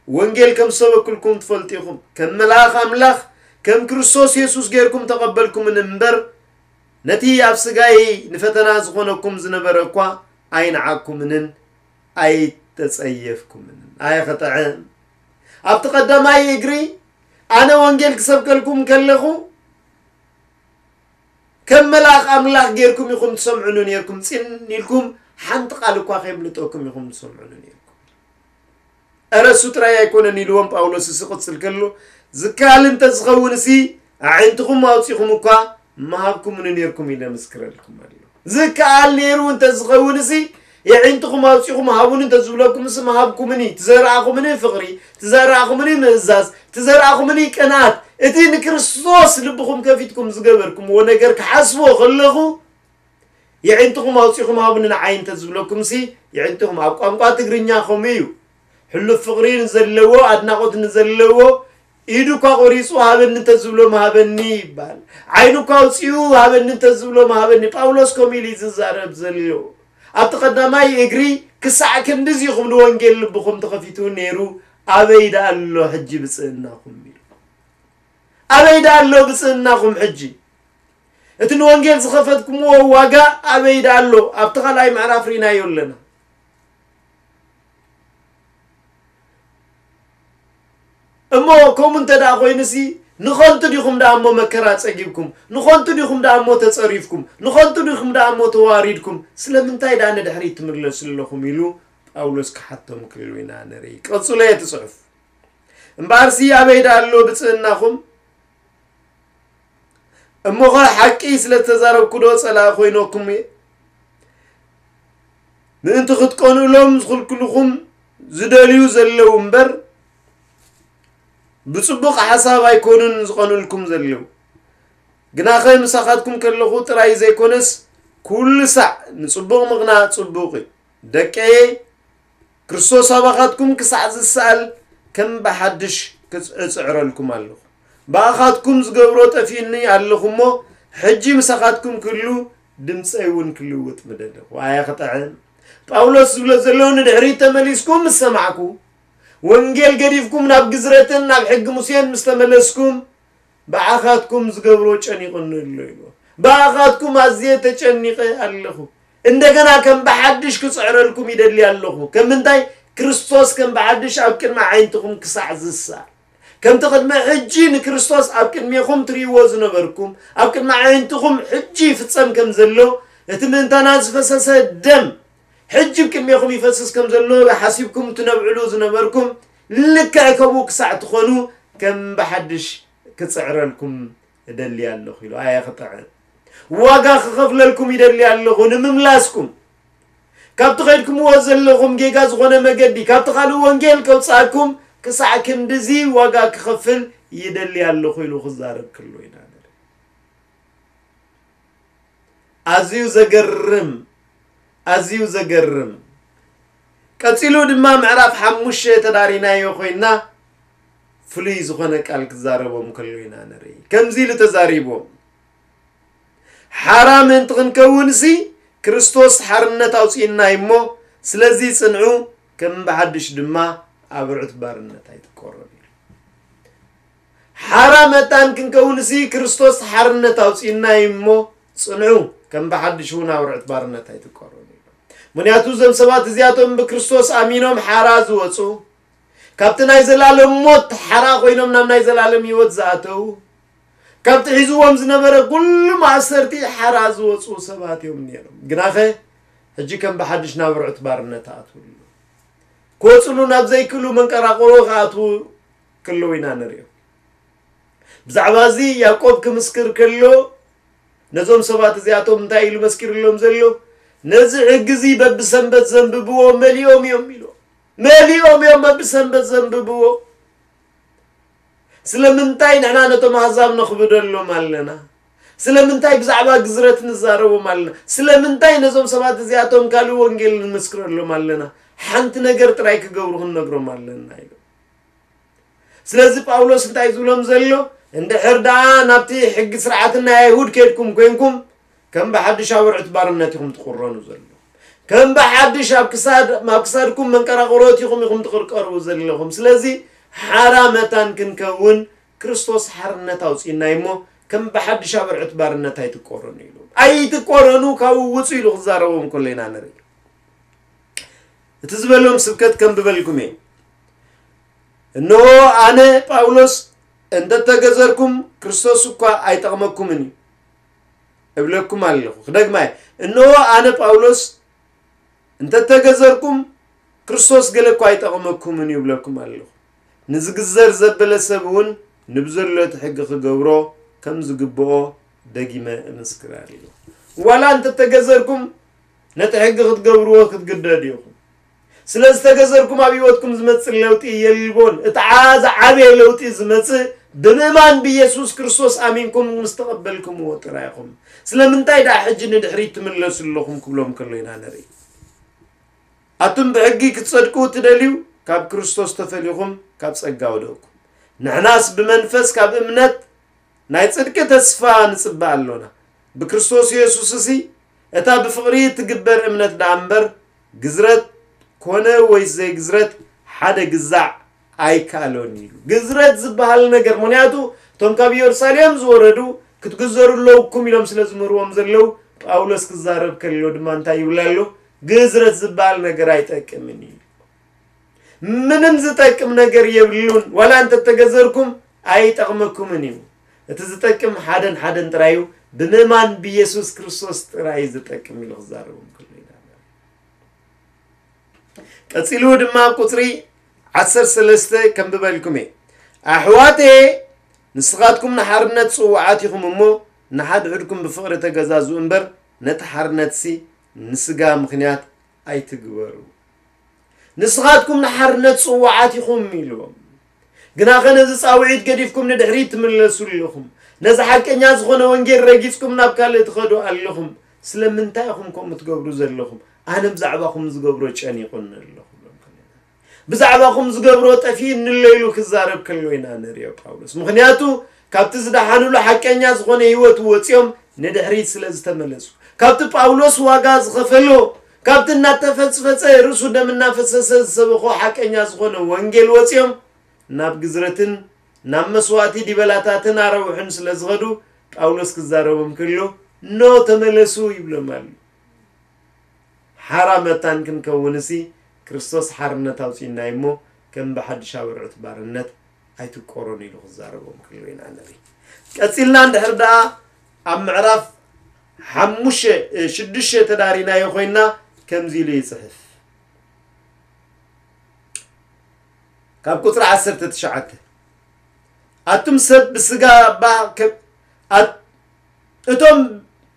ወንጌል ከም ዝሰበክልኩም ትፈልጡ ኢኹም። ከም መልኣኽ ኣምላኽ፣ ከም ክርስቶስ የሱስ ጌርኩም ተቐበልኩምኒ እምበር፣ ነቲ ኣብ ስጋይ ንፈተና ዝኾነኩም ዝነበረ እኳ ኣይነዓኩምንን ኣይተጸየፍኩምንን። ኣየ ኸጥዕም! ኣብቲ ቀዳማይ እግሪ ኣነ ወንጌል ክሰብከልኩም ከለኹ፣ ከም መልኣኽ ኣምላኽ ጌርኩም ኢኹም ትሰምዑኒ ኔርኩም፣ ጽን ኢልኩም ሓንቲ ቃል እኳ ከየምልጠኩም ኢኹም ትሰምዑኒ ኔርኩም። እረ እሱ ጥራይ ኣይኮነን ኢልዎም ጳውሎስ እሱ ክቕጽል ከሎ፣ ዝከኣል እንተ ዝኸውንሲ ኣዒንትኹም ኣውጺኹም እኳ ምሃብኩምኒ ኔርኩም ኢለ ምስክረልኩም ኣሎ። ዝከኣል ነይሩ እንተ ዝኸውንሲ የዒንትኹም ኣውጺኹም ሃቡኒ እንተ ዝብለኩምሲ ምሃብኩምኒ፣ ትዘራእኹምኒ ፍቕሪ፣ ትዘራእኹምኒ ምእዛዝ፣ ትዘራእኹምኒ ቅንኣት፣ እቲ ንክርስቶስ ልብኹም ከፊትኩም ዝገበርኩምዎ ነገር ክሓስቦ ከለኹ፣ የዒንትኹም ኣውጺኹም ሃቡኒ ንዓይ እንተ ዝብለኩምሲ፣ የዒንትኹም ኣብ ቋንቋ ትግርኛ ከምኡ እዩ። ሕሉፍ ፍቕሪ ንዘለዎ፣ ኣድናቖት ንዘለዎ፣ ኢዱ እኳ ቆሪጹ ሃበኒ እንተ ዝብሎ ምሃበኒ ይባል። ዓይኑ እኳ ኣውጺኡ ሃበኒ እንተ ዝብሎ ምሃበኒ። ጳውሎስ ከምኡ ኢሉ እዩ ዝዛረብ ዘሎ። ኣብቲ ቀዳማይ እግሪ ክሳዕ ክንድዚ ኢኹም ንወንጌል ልብኹም ተኸፊቱ ነይሩ፣ ኣበይ ደኣ ኣሎ ሕጂ ብጽእናኹም ኢሉ። ኣበይ ደኣ ኣሎ ብጽእናኹም ሕጂ? እቲ ንወንጌል ዝኸፈትኩምዎ ዋጋ ኣበይ ደኣ ኣሎ? ኣብቲ ካልኣይ ምዕራፍ ርኢናዮ ኣለና። እሞ ከምኡ እንተ ደኣ ኮይኑሲ፣ ንኸንቱ ዲኹም ደኣ እሞ መከራ ጸጊብኩም? ንኸንቱ ዲኹም ደኣ እሞ ተጸሪፍኩም? ንኸንቱ ዲኹም ደኣ እሞ ተዋሪድኩም? ስለምንታይ ደኣ ንድሕሪት ትምለሱ ኣለኹም? ኢሉ ጳውሎስ ክሓቶም ክልሉ ኢና ንርኢ። ቀጽሎ እቲ ጽሑፍ። እምበኣርሲ ኣበይ ደኣ ኣሎ ብጽእናኹም? እሞኸ ሓቂ ስለ ዝተዛረብኩ ዶ ጸላኢ ኮይነኩም እየ? ምእንቲ ክትቀንኡሎም ዝኽልክልኹም ዝደልዩ ዘለዉ እምበር፣ ብጽቡቕ ሓሳብ ኣይኮኑን ዝቐንኡልኩም ዘለዉ። ግናኸ ምሳኻትኩም ከለኹ ጥራይ ዘይኮነስ፣ ኩሉ ሳዕ ንጽቡቕ ምቕናእ ጽቡቕ እዩ። ደቀየ፣ ክርስቶስ ኣባኻትኩም ክሳዕ ዝሰኣል ከም ብሓድሽ ክጽ-፣ እጽዕረልኩም ኣለኹ። ብኣኻትኩም ዝገብሮ ጠፊኡኒ ኣለኹ እሞ፣ ሕጂ ምሳኻትኩም ክህሉ ድምጸይ እውን ክልውጥ ምደለኹ። ኣየ ክጥዕም! ጳውሎስ ዝብሎ ዘሎ፣ ንድሕሪት ተመሊስኩም ምስ ሰማዕኩ፣ ወንጌል ገዲፍኩም ናብ ግዝረትን ናብ ሕጊ ሙሴን ምስ ተመለስኩም፣ ብኣኻትኩም ዝገብሮ ጨኒቑኒ ኣሎ ኢሉ። ብኣኻትኩም ኣዝየ ተጨኒቐ ኣለኹ። እንደገና ከም ብሓድሽ ክጽዕረልኩም ይደሊ ኣለኹ። ከም ምንታይ? ክርስቶስ ከም ብሓድሽ ኣብ ቅድሚ ኣዒንትኹም ክሳዕ ዝሳል። ከምቲ ቅድሚ ሕጂ ንክርስቶስ ኣብ ቅድሜኹም ትርእይዎ ዝነበርኩም፣ ኣብ ቅድሚ ኣዒንትኹም ሕጂ ይፍጸም ከም ዘሎ፣ እቲ ምእንታና ዝፈሰሰ ደም ሕጂ ኣብ ቅድሜኹም ይፈስስ ከም ዘሎ ሓሲብኩም ትነብዕሉ ዝነበርኩም፣ ልክዕ ከምኡ ክሳዕ ትኾኑ ከም ብሓድሽ ክጽዕረልኩም እደሊ ኣለኹ ኢሉ። ኣየ ክጥዕም! ዋጋ ክኸፍለልኩም ይደሊ ኣለኹ ንምምላስኩም። ካብቲ ኸይድኩምዎ ዘለኹም ጌጋ ዝኾነ መገዲ፣ ካብቲ ካልእ ወንጌል ከውጽኣኩም ክሳዕ ክንድዚ ዋጋ ክኸፍል ይደሊ ኣለኹ ኢሉ ክዛረብ ከሎ ኢና ንርኢ። ኣዝዩ ዘገርም፣ ኣዝዩ ዘገርም። ቀጺሉ ድማ ምዕራፍ ሓሙሽተ ተዳሪናዮ ኮይንና፣ ፍሉይ ዝኾነ ቃል ክዛረቦም ከሎ ኢና ንርኢ። ከምዚ ኢሉ ተዛሪቦም፣ ሓራ ምእንቲ ክንከውንሲ፣ ክርስቶስ ሓርነት ኣውጺእና እዩ እሞ፣ ስለዚ ጽንዑ፣ ከም ብሓድሽ ድማ ኣብ ርዑት ባርነት ኣይትቆረኑ ኢሉ። ሓራ መታን ክንከውንሲ፣ ክርስቶስ ሓርነት ኣውጺእና እዩ እሞ፣ ጽንዑ፣ ከም ብሓድሽ እውን ኣብ ርዑት ባርነት ኣይትቆረኑ ኢሉ። ምኽንያቱ፣ እዞም ሰባት እዚኣቶም ብክርስቶስ ኣሚኖም ሓራ ዝወጹ፣ ካብቲ ናይ ዘላለም ሞት ሓራ ኮይኖም ናብ ናይ ዘላለም ህይወት ዝኣተዉ፣ ካብቲ ሒዝዎም ዝነበረ ኩሉ ማእሰርቲ ሓራ ዝወጹ ሰባት እዮም ነይሮም። ግናኸ፣ ሕጂ ከም ብሓድሽ ናብ ርዑት ባርነት ኣትዉ ኣለዉ። ክወጽሉ ናብ ዘይክእሉ መንቀራቕሮ ክኣትዉ ከለዉ ኢና ንሪኦ። ብዛዕባ እዚ ያዕቆብ ክምስክር ከሎ፣ ነዞም ሰባት እዚኣቶም እንታይ ኢሉ መስኪርሎም ዘሎ? ነዚ ሕጊ እዚ በብሰንበት ዘንብብዎ መሊኦም እዮም ኢሉ። መሊኦም እዮም በብሰንበት ዘንብብዎ። ስለምንታይ ንሕና ነቶም ኣህዛብ ነኽብደሎም ኣለና? ስለምንታይ ብዛዕባ ግዝረት ንዛረቦም ኣለና? ስለምንታይ ነዞም ሰባት እዚኣቶም ካልእ ወንጌል ንምስክረሎም ኣለና? ሓንቲ ነገር ጥራይ ክገብሩ ክንነግሮም ኣለና ኢሉ። ስለዚ ጳውሎስ እንታይ ዝብሎም ዘሎ? እንድሕር ደኣ ናብቲ ሕጊ ስርዓት ናይ ኣይሁድ ከድኩም ኮይንኩም፣ ከም ብሓድሽ ኣብ ኣርዑት ባርነት ኢኹም ትቑረኑ ዘለኹም። ከም ብሓድሽ ኣብ ክሳድ-፣ ኣብ ክሳድኩም መንቀራቕሮት ኢኹም፣ ኢኹም ትቕርቀሩ ዘለኹም። ስለዚ ሓራ መታን ክንከውን ክርስቶስ ሓርነት ኣውጺእና እሞ፣ ከም ብሓድሽ ኣብ ኣርዑት ባርነት ኣይትቆረኑ ኢሉ። ኣይትቆረኑ፣ ካብኡ ውጹ ኢሉ ክዛረቦም ከሎ ኢና ንርኢ። እቲ ዝበሎም ስብከት ከንብበልኩም እየ። እንሆ ኣነ ጳውሎስ እንተተገዘርኩም ክርስቶስ እኳ ኣይጠቕመኩምን እዩ እብለኩም ኣለኹ። ክደግማ እየ። እንሆ ኣነ ጳውሎስ እንተተገዘርኩም ክርስቶስ ገለ እኳ ኣይጠቕመኩምን እዩ እብለኩም ኣለኹ። ንዝግዘር ዘበለ ሰብ እውን ንብዘሎ እቲ ሕጊ ክገብሮ ከም ዝግብኦ ደጊመ እምስክር ኣለኹ። ዋላ እንተተገዘርኩም ነቲ ሕጊ ክትገብርዎ ክትግደዱ ኢኹም። ስለ ዝተገዘርኩም ኣብ ህይወትኩም ዝመጽእ ለውጢ የልቦን። እቲ ዓ-፣ ዝዓበየ ለውጢ ዝመጽእ ብምእማን ብኢየሱስ ክርስቶስ ኣሚንኩም ምስ ተቐበልኩምዎ ጥራይ ኢኹም። ስለምንታይ ደኣ ሕጂ ንድሕሪት ትምለሱ ኣለኹም ክብሎም ከሎ ኢና ንርኢ። ኣቱም ብሕጊ ክትጸድቁ እትደልዩ፣ ካብ ክርስቶስ ተፈሊኹም ካብ ጸጋ ወደቕኩም። ንሕናስ ብመንፈስ ካብ እምነት ናይ ጽድቂ ተስፋ ንጽበ ኣሎና። ብክርስቶስ የሱስሲ እታ ብፍቕሪ እትግበር እምነት ደኣ እምበር፣ ግዝረት ኮነ ወይስ ዘይግዝረት ሓደ ግዛዕ ኣይከኣሎን ኢሉ። ግዝረት ዝበሃል ነገር፣ ምኽንያቱ እቶም ካብ ኢየሩሳሌም ዝወረዱ ክትግዘሩ ኣለውኩም ኢሎም ስለ ዝምህርዎም ዘለዉ፣ ጳውሎስ ክዛረብ ከሎ ድማ እንታይ ይብል ኣሎ? ግዝረት ዝበሃል ነገር ኣይጠቅምን እዩ። ምንም ዝጠቅም ነገር የብሉን። ዋላ እንተተገዘርኩም ኣይጠቕመኩምን እዩ። እቲ ዝጠቅም ሓደን ሓደን ጥራይ እዩ። ብምእማን ብኢየሱስ ክርስቶስ ጥራይ እዩ ዝጠቅም ኢሉ ክዛረቦም ከሎ ኢና። ቀጺሉ ድማ ኣብ ቁጽሪ ዓሰርተ ሰለስተ ከንብበልኩም እየ። ኣሕዋተየ፣ ንስኻትኩም ንሓርነት ጽዉዓት ኢኹም እሞ፣ ንሓድሕድኩም ብፍቕሪ ተገዛዝኡ እምበር፣ ነቲ ሓርነትሲ ንስጋ ምኽንያት ኣይትግበሩ። ንስኻትኩም ንሓርነት ጽዉዓት ኢኹም ኢልዎም። ግናኸ ነዚ ጻውዒት ገዲፍኩም ንድሕሪት ትምለሱ ኣለኹም። ነዚ ሓቀኛ ዝኾነ ወንጌል ረጊጽኩም ናብ ካልእ ትኸዱ ኣለኹም። ስለምንታይ ኢኹም ከምኡ ትገብሩ ዘለኹም? ኣነ ብዛዕባኹም ዝገብሮ ጨኒቑኒ ኣለኹ። ብዛዕባኹም ዝገብሮ ጠፊእኒ ኣሎ ኢሉ ክዛረብ ከሎ ኢና ንሪኦ ጳውሎስ። ምኽንያቱ ካብቲ ዝደሓኑሉ ሓቀኛ ዝኾነ ህይወት ወፂኦም ንድሕሪት ስለ ዝተመለሱ፣ ካብቲ ጳውሎስ ዋጋ ዝኸፈሎ፣ ካብቲ እናተፈጽፈጸ ርእሱ ደም እናፈሰሰ ዝሰበኾ ሓቀኛ ዝኾነ ወንጌል ወፂኦም ናብ ግዝረትን ናብ መስዋእቲ ዲበላታትን ኣረውሕን ስለ ዝኸዱ ጳውሎስ ክዛረቦም ከሎ ኖ ተመለሱ ይብሎም ኣሎ። ሓራ መታን ክንከውንሲ ክርስቶስ ሓርነት ኣውፂእና እሞ ከም ብሓድሽ ኣብ ኣርዑት ባርነት ኣይትቆሮን ኢሉ ክዛረቦም ከሎ ኢና ንርኢ። ቀፂልና እንድሕር ደኣ ኣብ ምዕራፍ ሓሙሽተ፣ እ፣ ሽዱሽተ ተዳሪናዮ ኮይና ከምዚ ኢሉ ይፅሕፍ። ካብ ቁፅሪ ዓሰርተ ትሽዓተ ኣቱም ሰብ ብስጋ ባህ ከ-፣ ኣት-፣ እቶም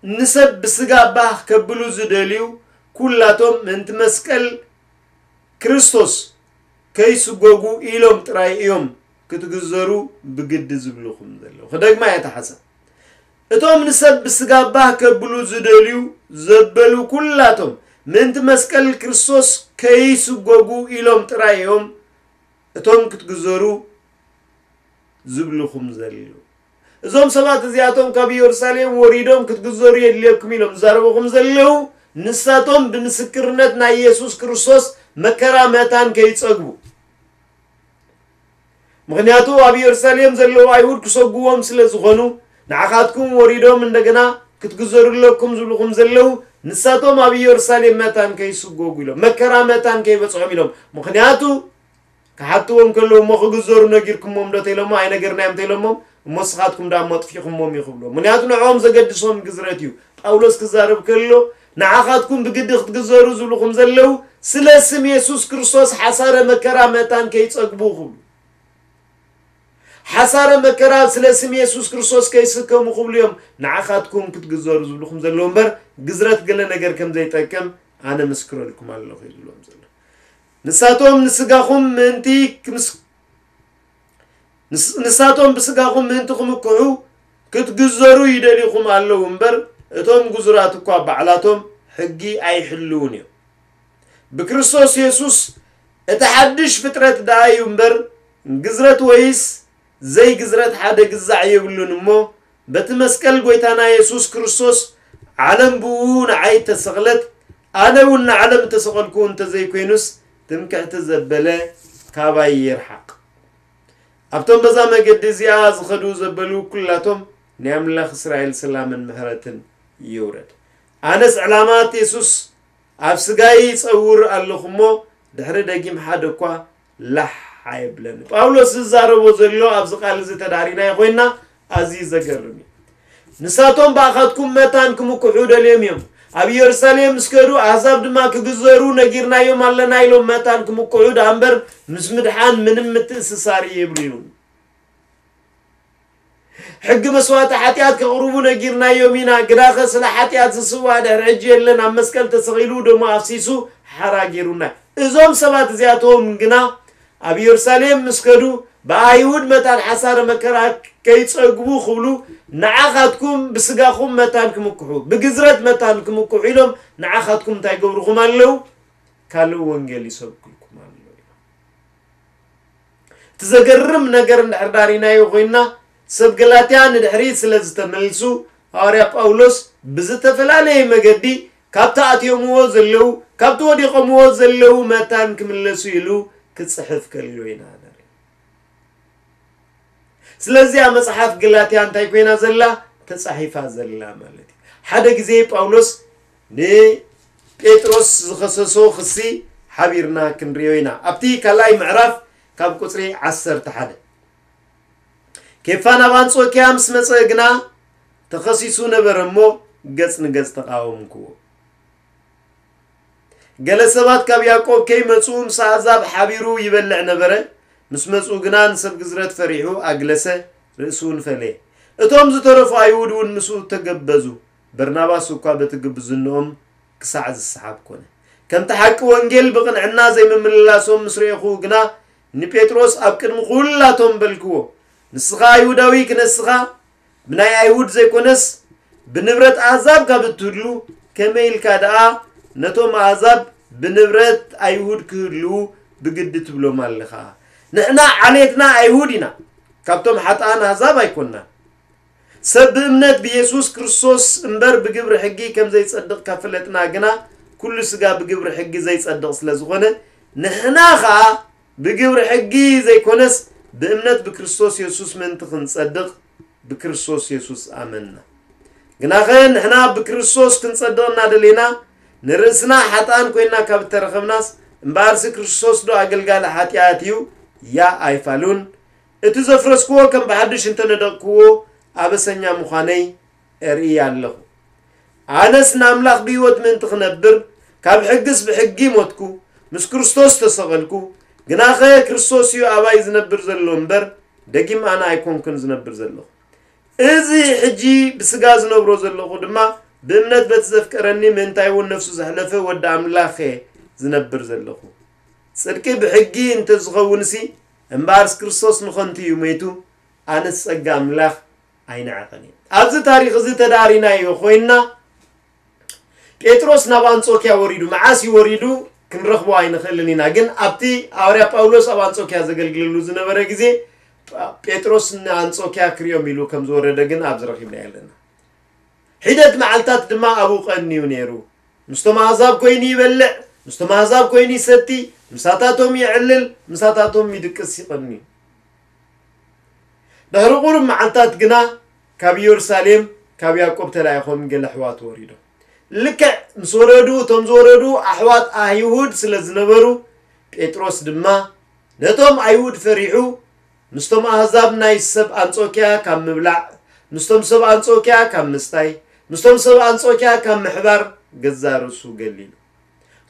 ንሰብ ብስጋ ባህ ከብሉ ዝደልዩ ኩላቶም ምእንቲ መስቀል ክርስቶስ ከይስጎጉ ኢሎም ጥራይ እዮም ክትግዘሩ ብግዲ ዝብልኹም ዘለዉ። ክደግማ እየ እታ ሓሳብ። እቶም ንሰብ ብስጋ ባህ ከብሉ ዝደልዩ ዘበሉ ኩላቶም ምእንቲ መስቀል ክርስቶስ ከይስጎጉ ኢሎም ጥራይ እዮም እቶም ክትግዘሩ ዝብልኹም ዘለዉ። እዞም ሰባት እዚኣቶም ካብ ኢየሩሳሌም ወሪዶም ክትግዘሩ የድልየኩም ኢሎም ዝዛረቡኹም ዘለዉ፣ ንሳቶም ብምስክርነት ናይ ኢየሱስ ክርስቶስ መከራ መታን ከይጸግቡ። ምኽንያቱ ኣብ ኢየሩሳሌም ዘለዉ ኣይሁድ ክሰጉዎም ስለ ዝኾኑ፣ ንዓኻትኩም ወሪዶም እንደገና ክትግዘሩ ኣለኩም ዝብልኹም ዘለዉ፣ ንሳቶም ኣብ ኢየሩሳሌም መታን ከይስጎጉ ኢሎም፣ መከራ መታን ከይበጽሖም ኢሎም። ምኽንያቱ ክሓትዎም ከለዉ፣ "እሞ ክግዘሩ ነጊርኩሞም ዶ?" ተኢሎሞ፣ "ኣይነገርናዮም" ተኢሎሞም፣ "እሞ ንስኻትኩም ደኣ እሞ ኣጥፊእኹሞም" እዩ ክብሎ። ምኽንያቱ ንዕኦም ዘገድሶም ግዝረት እዩ። ጳውሎስ ክዛረብ ከሎ፣ "ንዓኻትኩም ብግዲ ክትግዘሩ ዝብልኹም ዘለዉ፣ ስለ ስም የሱስ ክርስቶስ ሓሳረ መከራ መታን ከይጸግቡ" ክብሉ። ሓሳረ መከራ ስለ ስም የሱስ ክርስቶስ ከይስከሙ ክብሉ እዮም ንዓኻትኩም ክትግዘሩ ዝብልኹም ዘለዉ እምበር፣ ግዝረት ገለ ነገር ከም ዘይጠቅም ኣነ ምስክረልኩም ኣለኹ እዩ ዝብሎም ዘሎ። ንሳቶም ንስጋኹም ምእንቲ ክምስ-፣ ንስ-፣ ንሳቶም ብስጋኹም ምእንቲ ክምክሑ ክትግዘሩ ይደልዩኹም ኣለዉ እምበር፣ እቶም ግዙራት እኳ ባዕላቶም ሕጊ ኣይሕልዉን እዮም። ብክርስቶስ የሱስ እቲ ሓድሽ ፍጥረት ደኣ እዩ እምበር፣ ግዝረት ወይስ ዘይግዝረት ሓደ ግዛዕ የብሉን እሞ፣ በቲ መስቀል ጐይታና የሱስ ክርስቶስ ዓለም ብኡ ንዓይ ተሰቕለት፣ ኣነ እውን ንዓለም እተሰቐልኩ እንተ ዘይኮይኑስ፣ ትምክሕቲ ዘበለ ካባይ ይርሓቕ። ኣብቶም በዛ መገዲ እዚኣ ዝኸዱ ዘበሉ ኲላቶም ናይ ኣምላኽ እስራኤል ሰላምን ምሕረትን ይውረድ። ኣነስ ዕላማት የሱስ ኣብ ስጋይ ይጸውር ኣለኹ እሞ፣ ድሕሪ ደጊም ሓደ እኳ ላሕ ኣይብለኒ። ጳውሎስ ዝዛረቦ ዘሎ ኣብዚ ቃል እዚ ተዳሪናዮ ኮይና ኣዝዩ ዘገርም እዩ። ንሳቶም ብኣኻትኩም መታን ክምክሑ ደልዮም እዮም። ኣብ ኢየሩሳሌም ምስ ከዱ ኣህዛብ ድማ ክግዘሩ ነጊርናዮም ኣለና ኢሎም መታን ክምክሑ ደኣ እምበር ምስ ምድሓን ምንም ምትእስሳር የብሉን። ሕጊ መስዋእቲ ሓጢኣት ከቕርቡ ነጊርናዮም ኢና፣ ግናኸ ስለ ሓጢኣት ዝስዋእ ድሕሪ ሕጂ የለን፣ ኣብ መስቀል ተሰቒሉ ደሙ ኣፍሲሱ ሓራ ገይሩና። እዞም ሰባት እዚኣቶም ግና ኣብ ኢየሩሳሌም ምስ ከዱ ብኣይሁድ መታን ሓሳረ መከራ ከይጸግቡ ክብሉ ንዓኻትኩም ብስጋኹም መታን ክምክሑ፣ ብግዝረት መታን ክምክሑ ኢሎም ንዓኻትኩም እንታይ ገብርኹም ኣለዉ? ካልእ ወንጌል ይሰብክልኩም ኣለዉ። እቲ ዘገርም ነገር እንድሕር ዳሪናዮ ኮይንና፣ ሰብ ገላትያ ንድሕሪት ስለ ዝተመልሱ፣ ሃዋርያ ጳውሎስ ብዝተፈላለየ መገዲ ካብቲ ኣትዮምዎ ዘለዉ፣ ካብቲ ወዲቖምዎ ዘለዉ መታን ክምለሱ ኢሉ ክጽሕፍ ከሎ ኢና ንርኢ። ስለዚኣ መጽሓፍ ገላትያ እንታይ ኮይና ዘላ? ተጻሒፋ ዘላ ማለት እዩ። ሓደ ግዜ ጳውሎስ ንጴጥሮስ ዝኸሰሶ ክሲ ሓቢርና ክንርእዮ ኢና። ኣብቲ ካልኣይ ምዕራፍ ካብ ቁጽሪ ዓሰርተ ሓደ። ኬፋ ናብ ኣንጾኪያ ምስ መጸ ግና ተኸሲሱ ነበረ እሞ ገጽ ንገጽ ተቓወምክዎ። ገለ ሰባት ካብ ያዕቆብ ከይመጹ ምስ ኣሕዛብ ሓቢሩ ይበልዕ ነበረ። ምስ መጹ ግና ንሰብ ግዝረት ፈሪሑ ኣግለሰ፣ ርእሱ እውን ፈለየ። እቶም ዝተረፉ ኣይሁድ እውን ምስኡ ተገበዙ። በርናባስ እኳ በቲ ግብዝንኦም ክሳዕ ዝሰሓብ ኮነ። ከምቲ ሓቂ ወንጌል ብቕንዕና ዘይምምልላሶም ምስ ረኤኹ ግና ንጴጥሮስ ኣብ ቅድሚ ኹላቶም በልክዎ፣ ንስኻ ኣይሁዳዊ ክነስኻ ብናይ ኣይሁድ ዘይኮነስ ብንብረት ኣሕዛብ ካብ እትህሉ፣ ከመይ ኢልካ ደኣ ነቶም ኣሕዛብ ብንብረት ኣይሁድ ክህልዉ ብግዲ ትብሎም ኣለኻ? ንሕና ዓሌትና ኣይሁድ ኢና፣ ካብቶም ሓጥኣን ኣሕዛብ ኣይኮንናን። ሰብ ብእምነት ብየሱስ ክርስቶስ እምበር ብግብሪ ሕጊ ከም ዘይጸድቕ ካብ ፈለጥና ግና፣ ኩሉ ስጋ ብግብሪ ሕጊ ዘይጸድቕ ስለ ዝኾነ፣ ንሕና ኸኣ ብግብሪ ሕጊ ዘይኮነስ ብእምነት ብክርስቶስ የሱስ ምእንቲ ክንጸድቕ ብክርስቶስ የሱስ ኣመንና። ግናኸ ንሕና ብክርስቶስ ክንጸድቕ እናደሌና ንርእስና ሓጥኣን ኮይንና ካብ እተረኸብናስ፣ እምበኣርሲ ክርስቶስ ዶ ኣገልጋሊ ሓጢኣት እዩ? ያ ኣይፋሉን። እቲ ዘፍረስክዎ ከም ብሓድሽ እንተነደቕክዎ ኣበሰኛ ምዃነይ እርኢ ኣለኹ። ኣነስ ንኣምላኽ ብህይወት ምእንቲ ክነብር ካብ ሕግስ ብሕጊ ሞትኩ፣ ምስ ክርስቶስ ተሰቐልኩ። ግናኸ ክርስቶስ እዩ ኣባይ ዝነብር ዘሎ እምበር ደጊም ኣነ ኣይኮንኩን ዝነብር ዘለኹ። እዚ ሕጂ ብስጋ ዝነብሮ ዘለኹ ድማ ብእምነት በቲ ዘፍቀረኒ ምእንታይ እውን ነፍሱ ዘሕለፈ ወዲ ኣምላኽ እየ ዝነብር ዘለኹ። ጽድቂ ብሕጊ እንተዝኸውንሲ እምበኣርስ ክርስቶስ ንኸንቱ እዩ ሞይቱ፣ ኣነስ ጸጋ ኣምላኽ ኣይንዕቕን እየ። ኣብዚ ታሪኽ እዚ ተዳሪናዮ ኮይንና ጴጥሮስ ናብ ኣንጾኪያ ወሪዱ፣ መዓስ እዩ ወሪዱ ክንረኽቦ ኣይንኽእልን ኢና። ግን ኣብቲ ሃዋርያ ጳውሎስ ኣብ ኣንጾኪያ ዘገልግለሉ ዝነበረ ግዜ ጳ- ጴጥሮስ ንኣንጾኪያ ክሪኦም ኢሉ ከም ዝወረደ ግን ኣብዚ ረኺብና ኣለና። ሒደት መዓልታት ድማ ኣብኡ ቀንዩ ነይሩ። ምስቶም ኣህዛብ ኮይኑ ይበልዕ፣ ምስቶም ኣህዛብ ኮይኑ ይሰቲ፣ ምሳታቶም ይዕልል፣ ምሳታቶም ይድቅስ ይቐንዩ። ድሕሪ ቁሩብ መዓልታት ግና ካብ ኢየሩሳሌም ካብ ያዕቆብ ተላኢኾም ገለ ኣሕዋት ወሪዶም። ልክዕ ምስ ወረዱ፣ እቶም ዝወረዱ ኣሕዋት ኣይሁድ ስለ ዝነበሩ፣ ጴጥሮስ ድማ ነቶም ኣይሁድ ፈሪሑ፣ ምስቶም ኣህዛብ ናይ ሰብ ኣንጾኪያ ካብ ምብላዕ፣ ምስቶም ሰብ ኣንጾኪያ ካብ ምስታይ፣ ምስቶም ሰብ ኣንጾኪያ ካብ ምሕባር ገዛ ርእሱ ገሊሉ።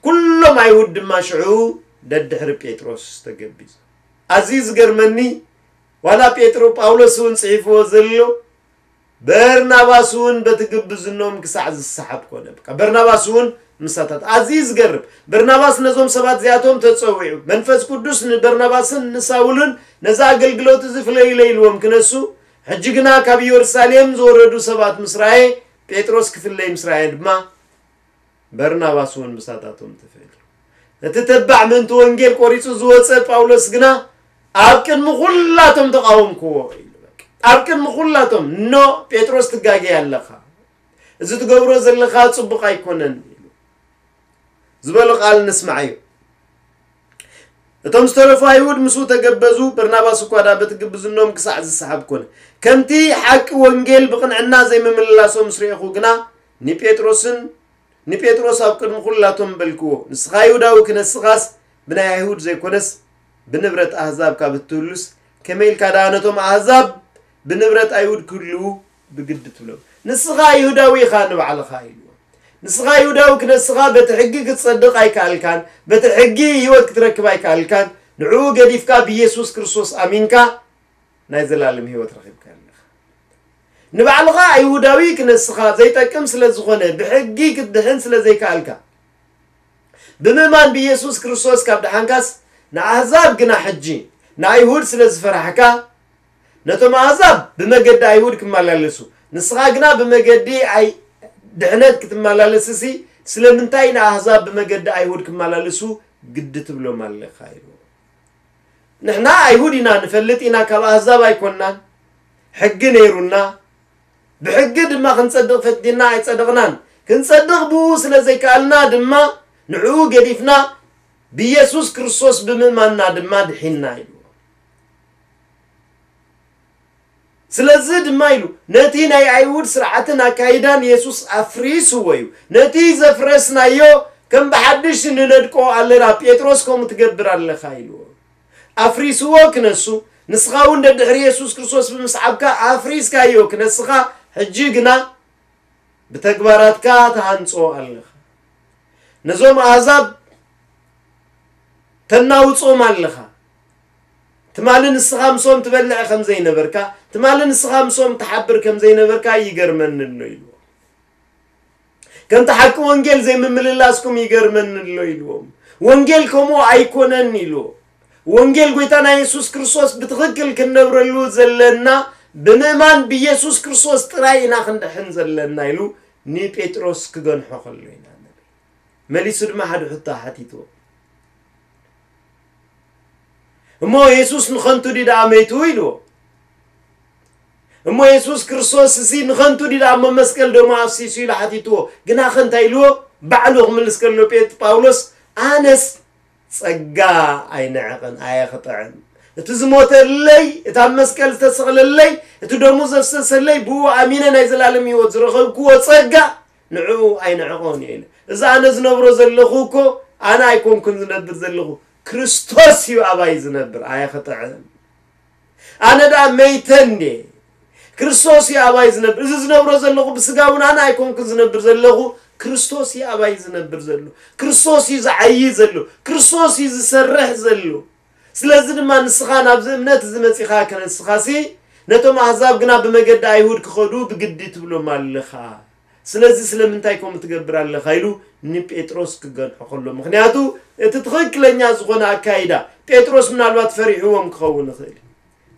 ኩሎም ኣይሁድ ድማ ሽዑ ደድሕሪ ጴጥሮስ ተገቢዞም። ኣዝዩ ዝገርመኒ ዋላ ጴጥሮ ጳውሎስ እውን ጽሒፍዎ ዘሎ በርናባስ እውን በቲ ግብዝኖም ክሳዕ ዝሰሓብ ኮነ። በቃ በርናባስ እውን ምሳታት ኣዝዩ ዝገርም። በርናባስ ነዞም ሰባት እዚኣቶም ተጸዊዑ መንፈስ ቅዱስ ንበርናባስን ንሳውልን ነዚ ኣገልግሎት እዚ ፍለዩለይ ኢልዎም ክነሱ ሕጂ ግና ካብ ኢየሩሳሌም ዝወረዱ ሰባት ምስ ረኣየ ጴጥሮስ ክፍለይ ምስ ረኣየ ድማ በርናባስ እውን ምሳታቶም ተፈልዩ። እቲ ተባዕ ምእንቲ ወንጌል ቆሪጹ ዝወጸ ጳውሎስ ግና ኣብ ቅድሚ ኩላቶም ተቓወምክዎ ኢሉ። በቃ ኣብ ቅድሚ ኩላቶም፣ ኖ፣ ጴጥሮስ፣ ትጋገይ ኣለኻ፣ እዚ ትገብሮ ዘለኻ ጽቡቕ ኣይኮነን ኢሉ ዝበሎ ቃል ንስማዕ እዩ። እቶም ዝተረፉ ኣይሁድ ምስኡ ተገበዙ፣ በርናባስ እኳ ደኣ በቲ ግብዝኖም ክሳዕ ዝሰሓብ ኮነ። ከምቲ ሓቂ ወንጌል ብቕንዕና ዘይምምልላሶም ምስ ረኤኹ ግና፣ ንጴጥሮስን ንጴጥሮስ ኣብ ቅድሚ ኩላቶም በልክዎ፣ ንስኻ ይሁዳዊ ክነስኻስ ብናይ ኣይሁድ ዘይኮነስ ብንብረት ኣህዛብ ካብ እትህሉስ፣ ከመይ ኢልካ ደኣ ነቶም ኣህዛብ ብንብረት ኣይሁድ ክህልዉ ብግዲ ትብሎም? ንስኻ ይሁዳዊ ኢኻ ንባዕልኻ ኢልዎ። ንስኻ ይሁዳዊ ክነስኻ በቲ ሕጊ ክትጸድቕ ኣይከኣልካን፣ በቲ ሕጊ ህይወት ክትረክብ ኣይከኣልካን። ንዕኡ ገዲፍካ ብኢየሱስ ክርስቶስ ኣሚንካ ናይ ዘላለም ህይወት ረኺብካ ኣለኻ። ንባዕልኻ ኣይሁዳዊ ክነስኻ ዘይጠቅም ስለ ዝኾነ፣ ብሕጊ ክትድሕን ስለ ዘይከኣልካ፣ ብምእማን ብኢየሱስ ክርስቶስ ካብ ደሓንካስ፣ ንኣህዛብ ግና ሕጂ ንኣይሁድ ስለ ዝፈራሕካ፣ ነቶም ኣህዛብ ብመገዲ ኣይሁድ ክመላለሱ፣ ንስኻ ግና ብመገዲ ኣይ-፣ ድሕነት ክትመላለስሲ፣ ስለምንታይ ንኣህዛብ ብመገዲ ኣይሁድ ክመላለሱ ግዲ ትብሎም ኣለኻ? ኢሉ። ንሕና ኣይሁድ ኢና፣ ንፈልጥ ኢና፣ ካብ ኣህዛብ ኣይኮንናን። ሕጊ ነይሩና፣ ብሕጊ ድማ ክንጸድቕ ፈቲንና ኣይጸደቕናን። ክንጸድቕ ብኡ ስለ ዘይከኣልና ድማ ንዕኡ ገዲፍና ብኢየሱስ ክርስቶስ ብምእማንና ድማ ድሒንና ኢሉ። ስለዚ ድማ ኢሉ፣ ነቲ ናይ ኣይሁድ ስርዓትን ኣካይዳን የሱስ ኣፍሪስዎ እዩ። ነቲ ዘፍረስናዮ ከም ብሓድሽ ንነድቆ ኣለና፣ ጴጥሮስ ከምኡ ትገብር ኣለኻ ኢልዎ። ኣፍሪስዎ ክነሱ፣ ንስኻ እውን ደድሕሪ የሱስ ክርስቶስ ብምስዓብካ ኣፍሪስካዮ ክነስኻ፣ ሕጂ ግና ብተግባራትካ ትሃንጾ ኣለኻ። ነዞም ኣህዛብ ተናውጾም ኣለኻ። ትማሊ ንስኻ ምስኦም ትበልዕ ከም ዘይነበርካ፣ ትማሊ ንስኻ ምስኦም ትሓብር ከም ዘይነበርካ ይገርመኒ ኣሎ ኢልዎ። ከምቲ ሓቂ ወንጌል ዘይምምልላስኩም ይገርመኒ ኣሎ ኢልዎም። ወንጌል ከምኡ ኣይኮነን ኢልዎ። ወንጌል ጎይታና የሱስ ክርስቶስ ብትኽክል ክንነብረሉ ዘለና ብምእማን ብየሱስ ክርስቶስ ጥራይ ኢና ክንድሕን ዘለና ኢሉ ንጴጥሮስ ክገንሖ ከሎ ኢና ንርኢ። መሊሱ ድማ ሓደ ሕቶ ሓቲትዎ። እሞ የሱስ ንኸንቱ ድዩ ደኣ መይቱ ኢልዎ። እሞ የሱስ ክርስቶስ እዚ ንኸንቱ ድዩ ደኣ እሞ መስቀል ደሙ ኣፍሲሱ ኢሉ ሓቲትዎ። ግናኸ እንታይ ኢልዎ? ባዕሉ ክምልስ ከሎ ጴጥ-፣ ጳውሎስ ኣነስ ጸጋ ኣይንዕቕን፣ ኣየኽጥዕን። እቲ ዝሞተለይ፣ እቲ ኣብ መስቀል ዝተሰቕለለይ፣ እቲ ደሙ ዘፍሰሰለይ፣ ብኡ ኣሚነ ናይ ዘላለም ህይወት ዝረኸብክዎ ጸጋ ንዕኡ ኣይንዕቖን እየ ኢለ። እዚ ኣነ ዝነብሮ ዘለኹ እኮ ኣነ ኣይኮንኩን ዝነብር ዘለኹ፣ ክርስቶስ እዩ ኣባይ ዝነብር፣ ኣየኽጥዕን። ኣነ ደኣ መይተ እንድየ፣ ክርስቶስ እዩ ኣባይ ዝነብር። እዚ ዝነብሮ ዘለኹ ብስጋ እውን ኣነ ኣይኮንኩን ዝነብር ዘለኹ፣ ክርስቶስ እዩ ኣባይ ዝነብር ዘሎ። ክርስቶስ እዩ ዝዓዪ ዘሎ። ክርስቶስ እዩ ዝሰርሕ ዘሎ። ስለዚ ድማ ንስኻ ናብዚ እምነት እዚ መጺኻ ከነስኻሲ፣ ነቶም ኣህዛብ ግና ብመገዲ ኣይሁድ ክኸዱ ብግዲ ትብሎም ኣለኻ። ስለዚ ስለምንታይ ከምኡ ትገብር ኣለኻ? ኢሉ ንጴጥሮስ ክገንሖ ከሎ። ምኽንያቱ እቲ ትኽክለኛ ዝኾነ ኣካይዳ፣ ጴጥሮስ ምናልባት ፈሪሕዎም ክኸውን ይኽእል እዩ።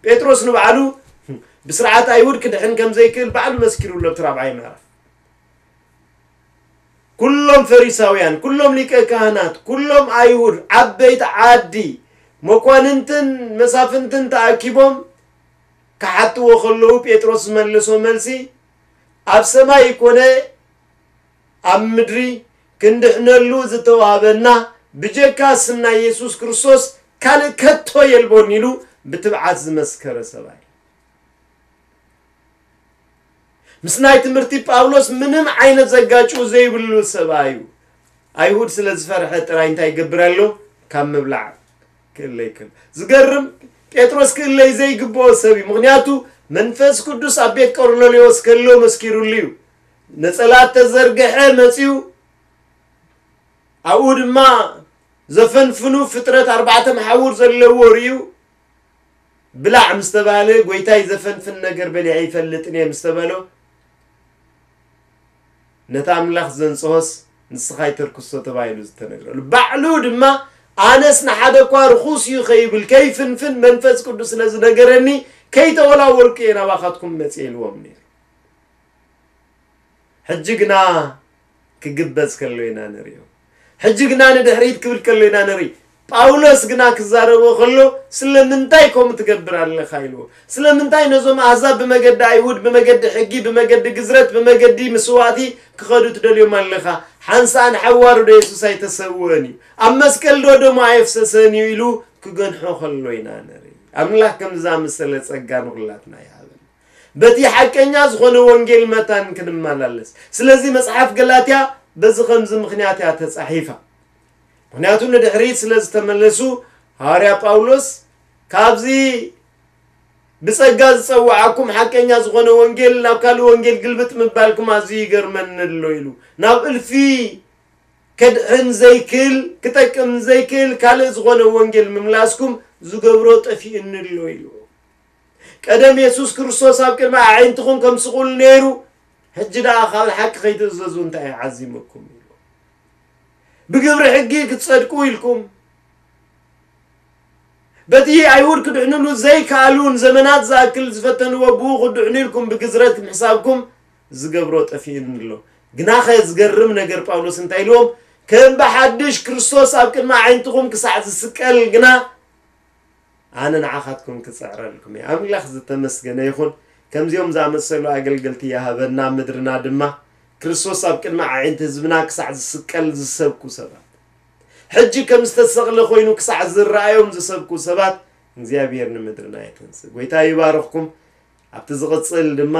ጴጥሮስ ንባዕሉ ብስርዓት ኣይሁድ ክድሕን ከም ዘይክእል ባዕሉ መስኪሩሉ ኣብቲ ራብዓይ ምዕራፍ። ኩሎም ፈሪሳውያን፣ ኩሎም ሊቀ ካህናት፣ ኩሎም ኣይሁድ፣ ዓበይቲ ዓዲ፣ መኳንንትን መሳፍንትን ተኣኪቦም ክሓትዎ ከለዉ፣ ጴጥሮስ ዝመለሶ መልሲ፣ ኣብ ሰማይ ኮነ ኣብ ምድሪ ክንድሕነሉ ዝተዋህበና ብጀካ ስም ናይ የሱስ ክርስቶስ ካልእ ከቶ የልቦን ኢሉ ብትብዓት ዝመስከረ ሰብኣይ። ምስ ናይ ትምህርቲ ጳውሎስ ምንም ዓይነት ዘጋጭው ዘይብሉ ሰብኣይ እዩ። ኣይሁድ ስለ ዝፈርሐ ጥራይ እንታይ ይገብር ኣሎ? ካብ ምብላዕ ክእለይ ከሎ። ዝገርም፣ ጴጥሮስ ክእለይ ዘይግብኦ ሰብ እዩ። ምኽንያቱ መንፈስ ቅዱስ ኣብ ቤት ቆርኔሌዎስ ከሎ መስኪሩሉ እዩ። ነጸላ ተዘርግሐ መጺኡ፣ ኣብኡ ድማ ዘፈንፍኑ ፍጥረት ኣርባዕተ መሓውር ዘለዎ ርእዩ፣ ብላዕ ምስ ተባህለ፣ "ጎይታይ ዘፈንፍን ነገር በሊዐ ይፈልጥን እየ" ምስ ተበሎ፣ ነቲ ኣምላኽ ዘንጽሆስ ንስኻ ኣይተርክሶ ተባሂሉ ዝተነግረሉ። ባዕሉ ድማ፣ "ኣነስ ንሓደ እኳ ርኹስ እዩ ከይብል፣ ከይፍንፍን መንፈስ ቅዱስ ስለ ዝነገረኒ፣ ከይተወላወልኩ እየ ናባኻትኩም መጽየ" ኢልዎም ነይሩ። ሕጂ ግና ክግበዝ ከሎ ኢና ንርእዮ። ሕጂ ግና ንድሕሪት ክብል ከሎ ኢና ንርኢ። ጳውሎስ ግና ክዛረቦ ከሎ፣ "ስለምንታይ ከምኡ ትገብር ኣለኻ?" ኢልዎ። "ስለምንታይ ነዞም ኣህዛብ ብመገዲ ኣይሁድ፣ ብመገዲ ሕጊ፣ ብመገዲ ግዝረት፣ ብመገዲ ምስዋእቲ ክኸዱ ትደልዮም ኣለኻ? ሓንሳእ ንሓዋሩ ዶ የሱስ ኣይተሰውኦን እዩ? ኣብ መስቀል ዶ ደሙ ኣየፍሰሰን እዩ?" ኢሉ ክገንሖ ከሎ ኢና ንርኢ። ኣምላኽ ከምዚ ዝኣመሰለ ጸጋ ንኹላትና ይሃበና። በቲ ሓቀኛ ዝኾነ ወንጌል መታን ክንመላለስ። ስለዚ መጽሓፍ ገላትያ በዚ ከምዚ ምኽንያት እያ ተጻሒፋ። ምኽንያቱ ንድሕሪት ስለ ዝተመለሱ፣ ሃዋርያ ጳውሎስ ካብዚ ብጸጋ ዝጸውዓኩም ሓቀኛ ዝኾነ ወንጌል ናብ ካልእ ወንጌል ግልብጥ ምባልኩም ኣዝዩ ይገርመኒ ኣሎ ኢሉ። ናብ እልፊ ከድሕን ዘይክእል፣ ክጠቅም ዘይክእል ካልእ ዝኾነ ወንጌል ምምላስኩም ዝገብሮ ጠፊእኒ ኣሎ ኢሉ። ቀደም የሱስ ክርስቶስ ኣብ ቅድሚ ኣዒንትኹም ከም ስቑል ነይሩ፣ ሕጂ ደኣ ካብ ሓቂ ከይትእዘዙ እንታይ እዩ ዓዚሙኩም ኢሉ። ብግብሪ ሕጊ ክትጸድቁ ኢልኩም፣ በቲ ኣይሁድ ክድሕንሉ ዘይከኣሉ ንዘመናት ዝኣክል ዝፈተንዎ ብኡ ክድሕኑ ኢልኩም ብግዝረት ምሕሳብኩም ዝገብሮ ጠፊእኒ ኣሎ። ግናኸ ዝገርም ነገር ጳውሎስ እንታይ ኢልዎም? ከም ብሓድሽ ክርስቶስ ኣብ ቅድሚ ኣዒንትኹም ክሳዕ ዝስቀል ግና ኣነ ንዓኻትኩም ክጽዕረልኩም እየ። ኣምላኽ ዝተመስገነ ይኹን። ከምዚኦም ዝኣመሰሉ ኣገልገልቲ ይሃበና፣ ምድርና ድማ ክርስቶስ ኣብ ቅድሚ ኣዒንቲ ህዝብና ክሳዕ ዝስቀል ዝሰብኩ ሰባት፣ ሕጂ ከም ዝተሰቕለ ኮይኑ ክሳዕ ዝረኣዮም ዝሰብኩ ሰባት እግዚኣብሔር ንምድርና የተንስእ። ጎይታ ይባርኽኩም። ኣብቲ ዝቕጽል ድማ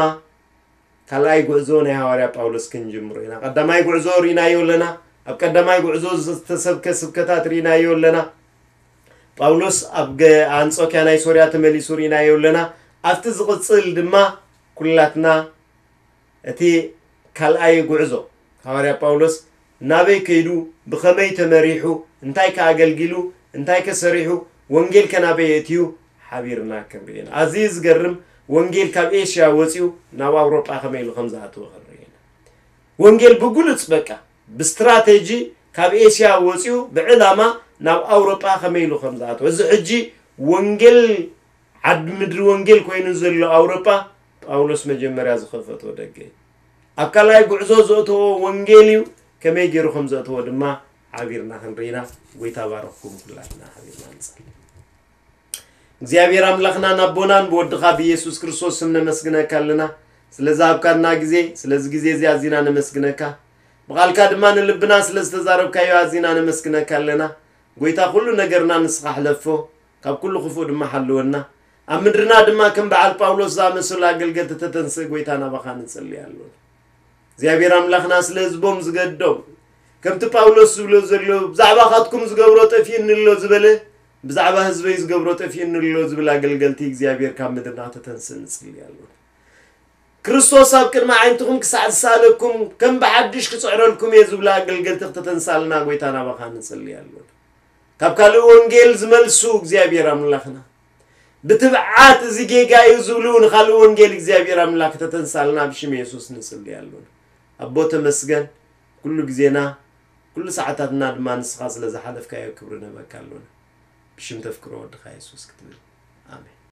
ካልኣይ ጉዕዞ ናይ ሃዋርያ ጳውሎስ ክንጅምሮ ኢና። ቀዳማይ ጉዕዞ ርኢናዮ ኣለና። ኣብ ቀዳማይ ጉዕዞ ዝተሰብከ ስብከታት ርኢናዮ ኣለና። ጳውሎስ ኣብ ገ-፣ ኣንጾኪያ ናይ ሶርያ ተመሊሱ ርኢናዮ ኣለና። ኣብቲ ዝቕጽል ድማ ኩላትና እቲ ካልኣይ ጉዕዞ ሃዋርያ ጳውሎስ ናበይ ከይዱ፣ ብኸመይ ተመሪሑ፣ እንታይ ከ ኣገልጊሉ፣ እንታይ ከ ሰሪሑ፣ ወንጌል ከ ናበይ ኣእትዩ ሓቢርና ክንርኢ ኢና። ኣዝዩ ዝገርም፣ ወንጌል ካብ ኤሽያ ወጺኡ ናብ ኣውሮጳ ከመይ ኢሉ ከም ዝኣተወ ክንርኢ ኢና። ወንጌል ብግሉጽ በቃ ብስትራቴጂ ካብ ኤስያ ወጺኡ ብዕላማ ናብ ኣውሮጳ ከመይ ኢሉ ከም ዝኣተወ። እዚ ሕጂ ወንጌል ዓዲ ምድሪ ወንጌል ኮይኑ ዘሎ ኣውሮጳ ጳውሎስ መጀመርያ ዝኸፈቶ ደገ እዩ። ኣብ ካልኣይ ጉዕዞ ዘእተዎ ወንጌል እዩ። ከመይ ገይሩ ከም ዘእተዎ ድማ ሓቢርና ክንርኢና። ጎይታ ባረኽኩም። ኩላትና ሓቢርና ንጸሊ። እግዚኣብሔር ኣምላኽናን ኣቦናን ብወድኻ ብኢየሱስ ክርስቶስ ስም ነመስግነካ ኣለና። ስለ ዝሃብካና ግዜ፣ ስለዚ ግዜ እዚ ኣዚና ነመስግነካ። ብቓልካ ድማ ንልብና ስለ ዝተዛረብካዮ ኣዚና ነመስግነካ ኣለና። ጎይታ፣ ኩሉ ነገርና ንስኻ ሕለፎ፣ ካብ ኩሉ ክፉእ ድማ ሓልወና። ኣብ ምድርና ድማ ከም በዓል ጳውሎስ ዝኣመሰሉ ኣገልገልቲ ተተንስእ፣ ጎይታ፣ ናባኻ ንጽሊ ኣለና። እግዚኣብሔር ኣምላኽና ስለ ህዝቦም ዝገድዶም፣ ከምቲ ጳውሎስ ዝብሎ ዘሎ፣ ብዛዕባኻትኩም ዝገብሮ ጠፊእኒ ኣሎ ዝበለ፣ ብዛዕባ ህዝበይ ዝገብሮ ጠፊእኒ ኣሎ ዝብል ኣገልገልቲ እግዚኣብሔር ካብ ምድርና ከተንስእ ንጽሊ ኣለና። ክርስቶስ ኣብ ቅድሚ ኣዒንትኹም ክሳዕ ዝሰኣለኩም፣ ከም ብሓድሽ ክጽዕረልኩም እየ ዝብሉ ኣገልገልቲ ክተተንሳልና ጎይታ ናባኻ ንጽሊ ኣለና። ካብ ካልእ ወንጌል ዝመልሱ እግዚኣብሔር ኣምላኽና፣ ብትብዓት እዚ ጌጋ እዩ ዝብሉ ንኻልእ ወንጌል እግዚኣብሔር ኣምላኽ ከተተንሳልና ብሽም የሱስ ንጽሊ ኣለና። ኣቦ ተመስገን፣ ኩሉ ግዜና፣ ኩሉ ሰዓታትና ድማ ንስኻ ስለ ዝሓለፍካዮ ክብሪ ንህበካ ኣለና። ብሽም ተፍቅሮ ወድኻ የሱስ ክትብል። ኣሜን።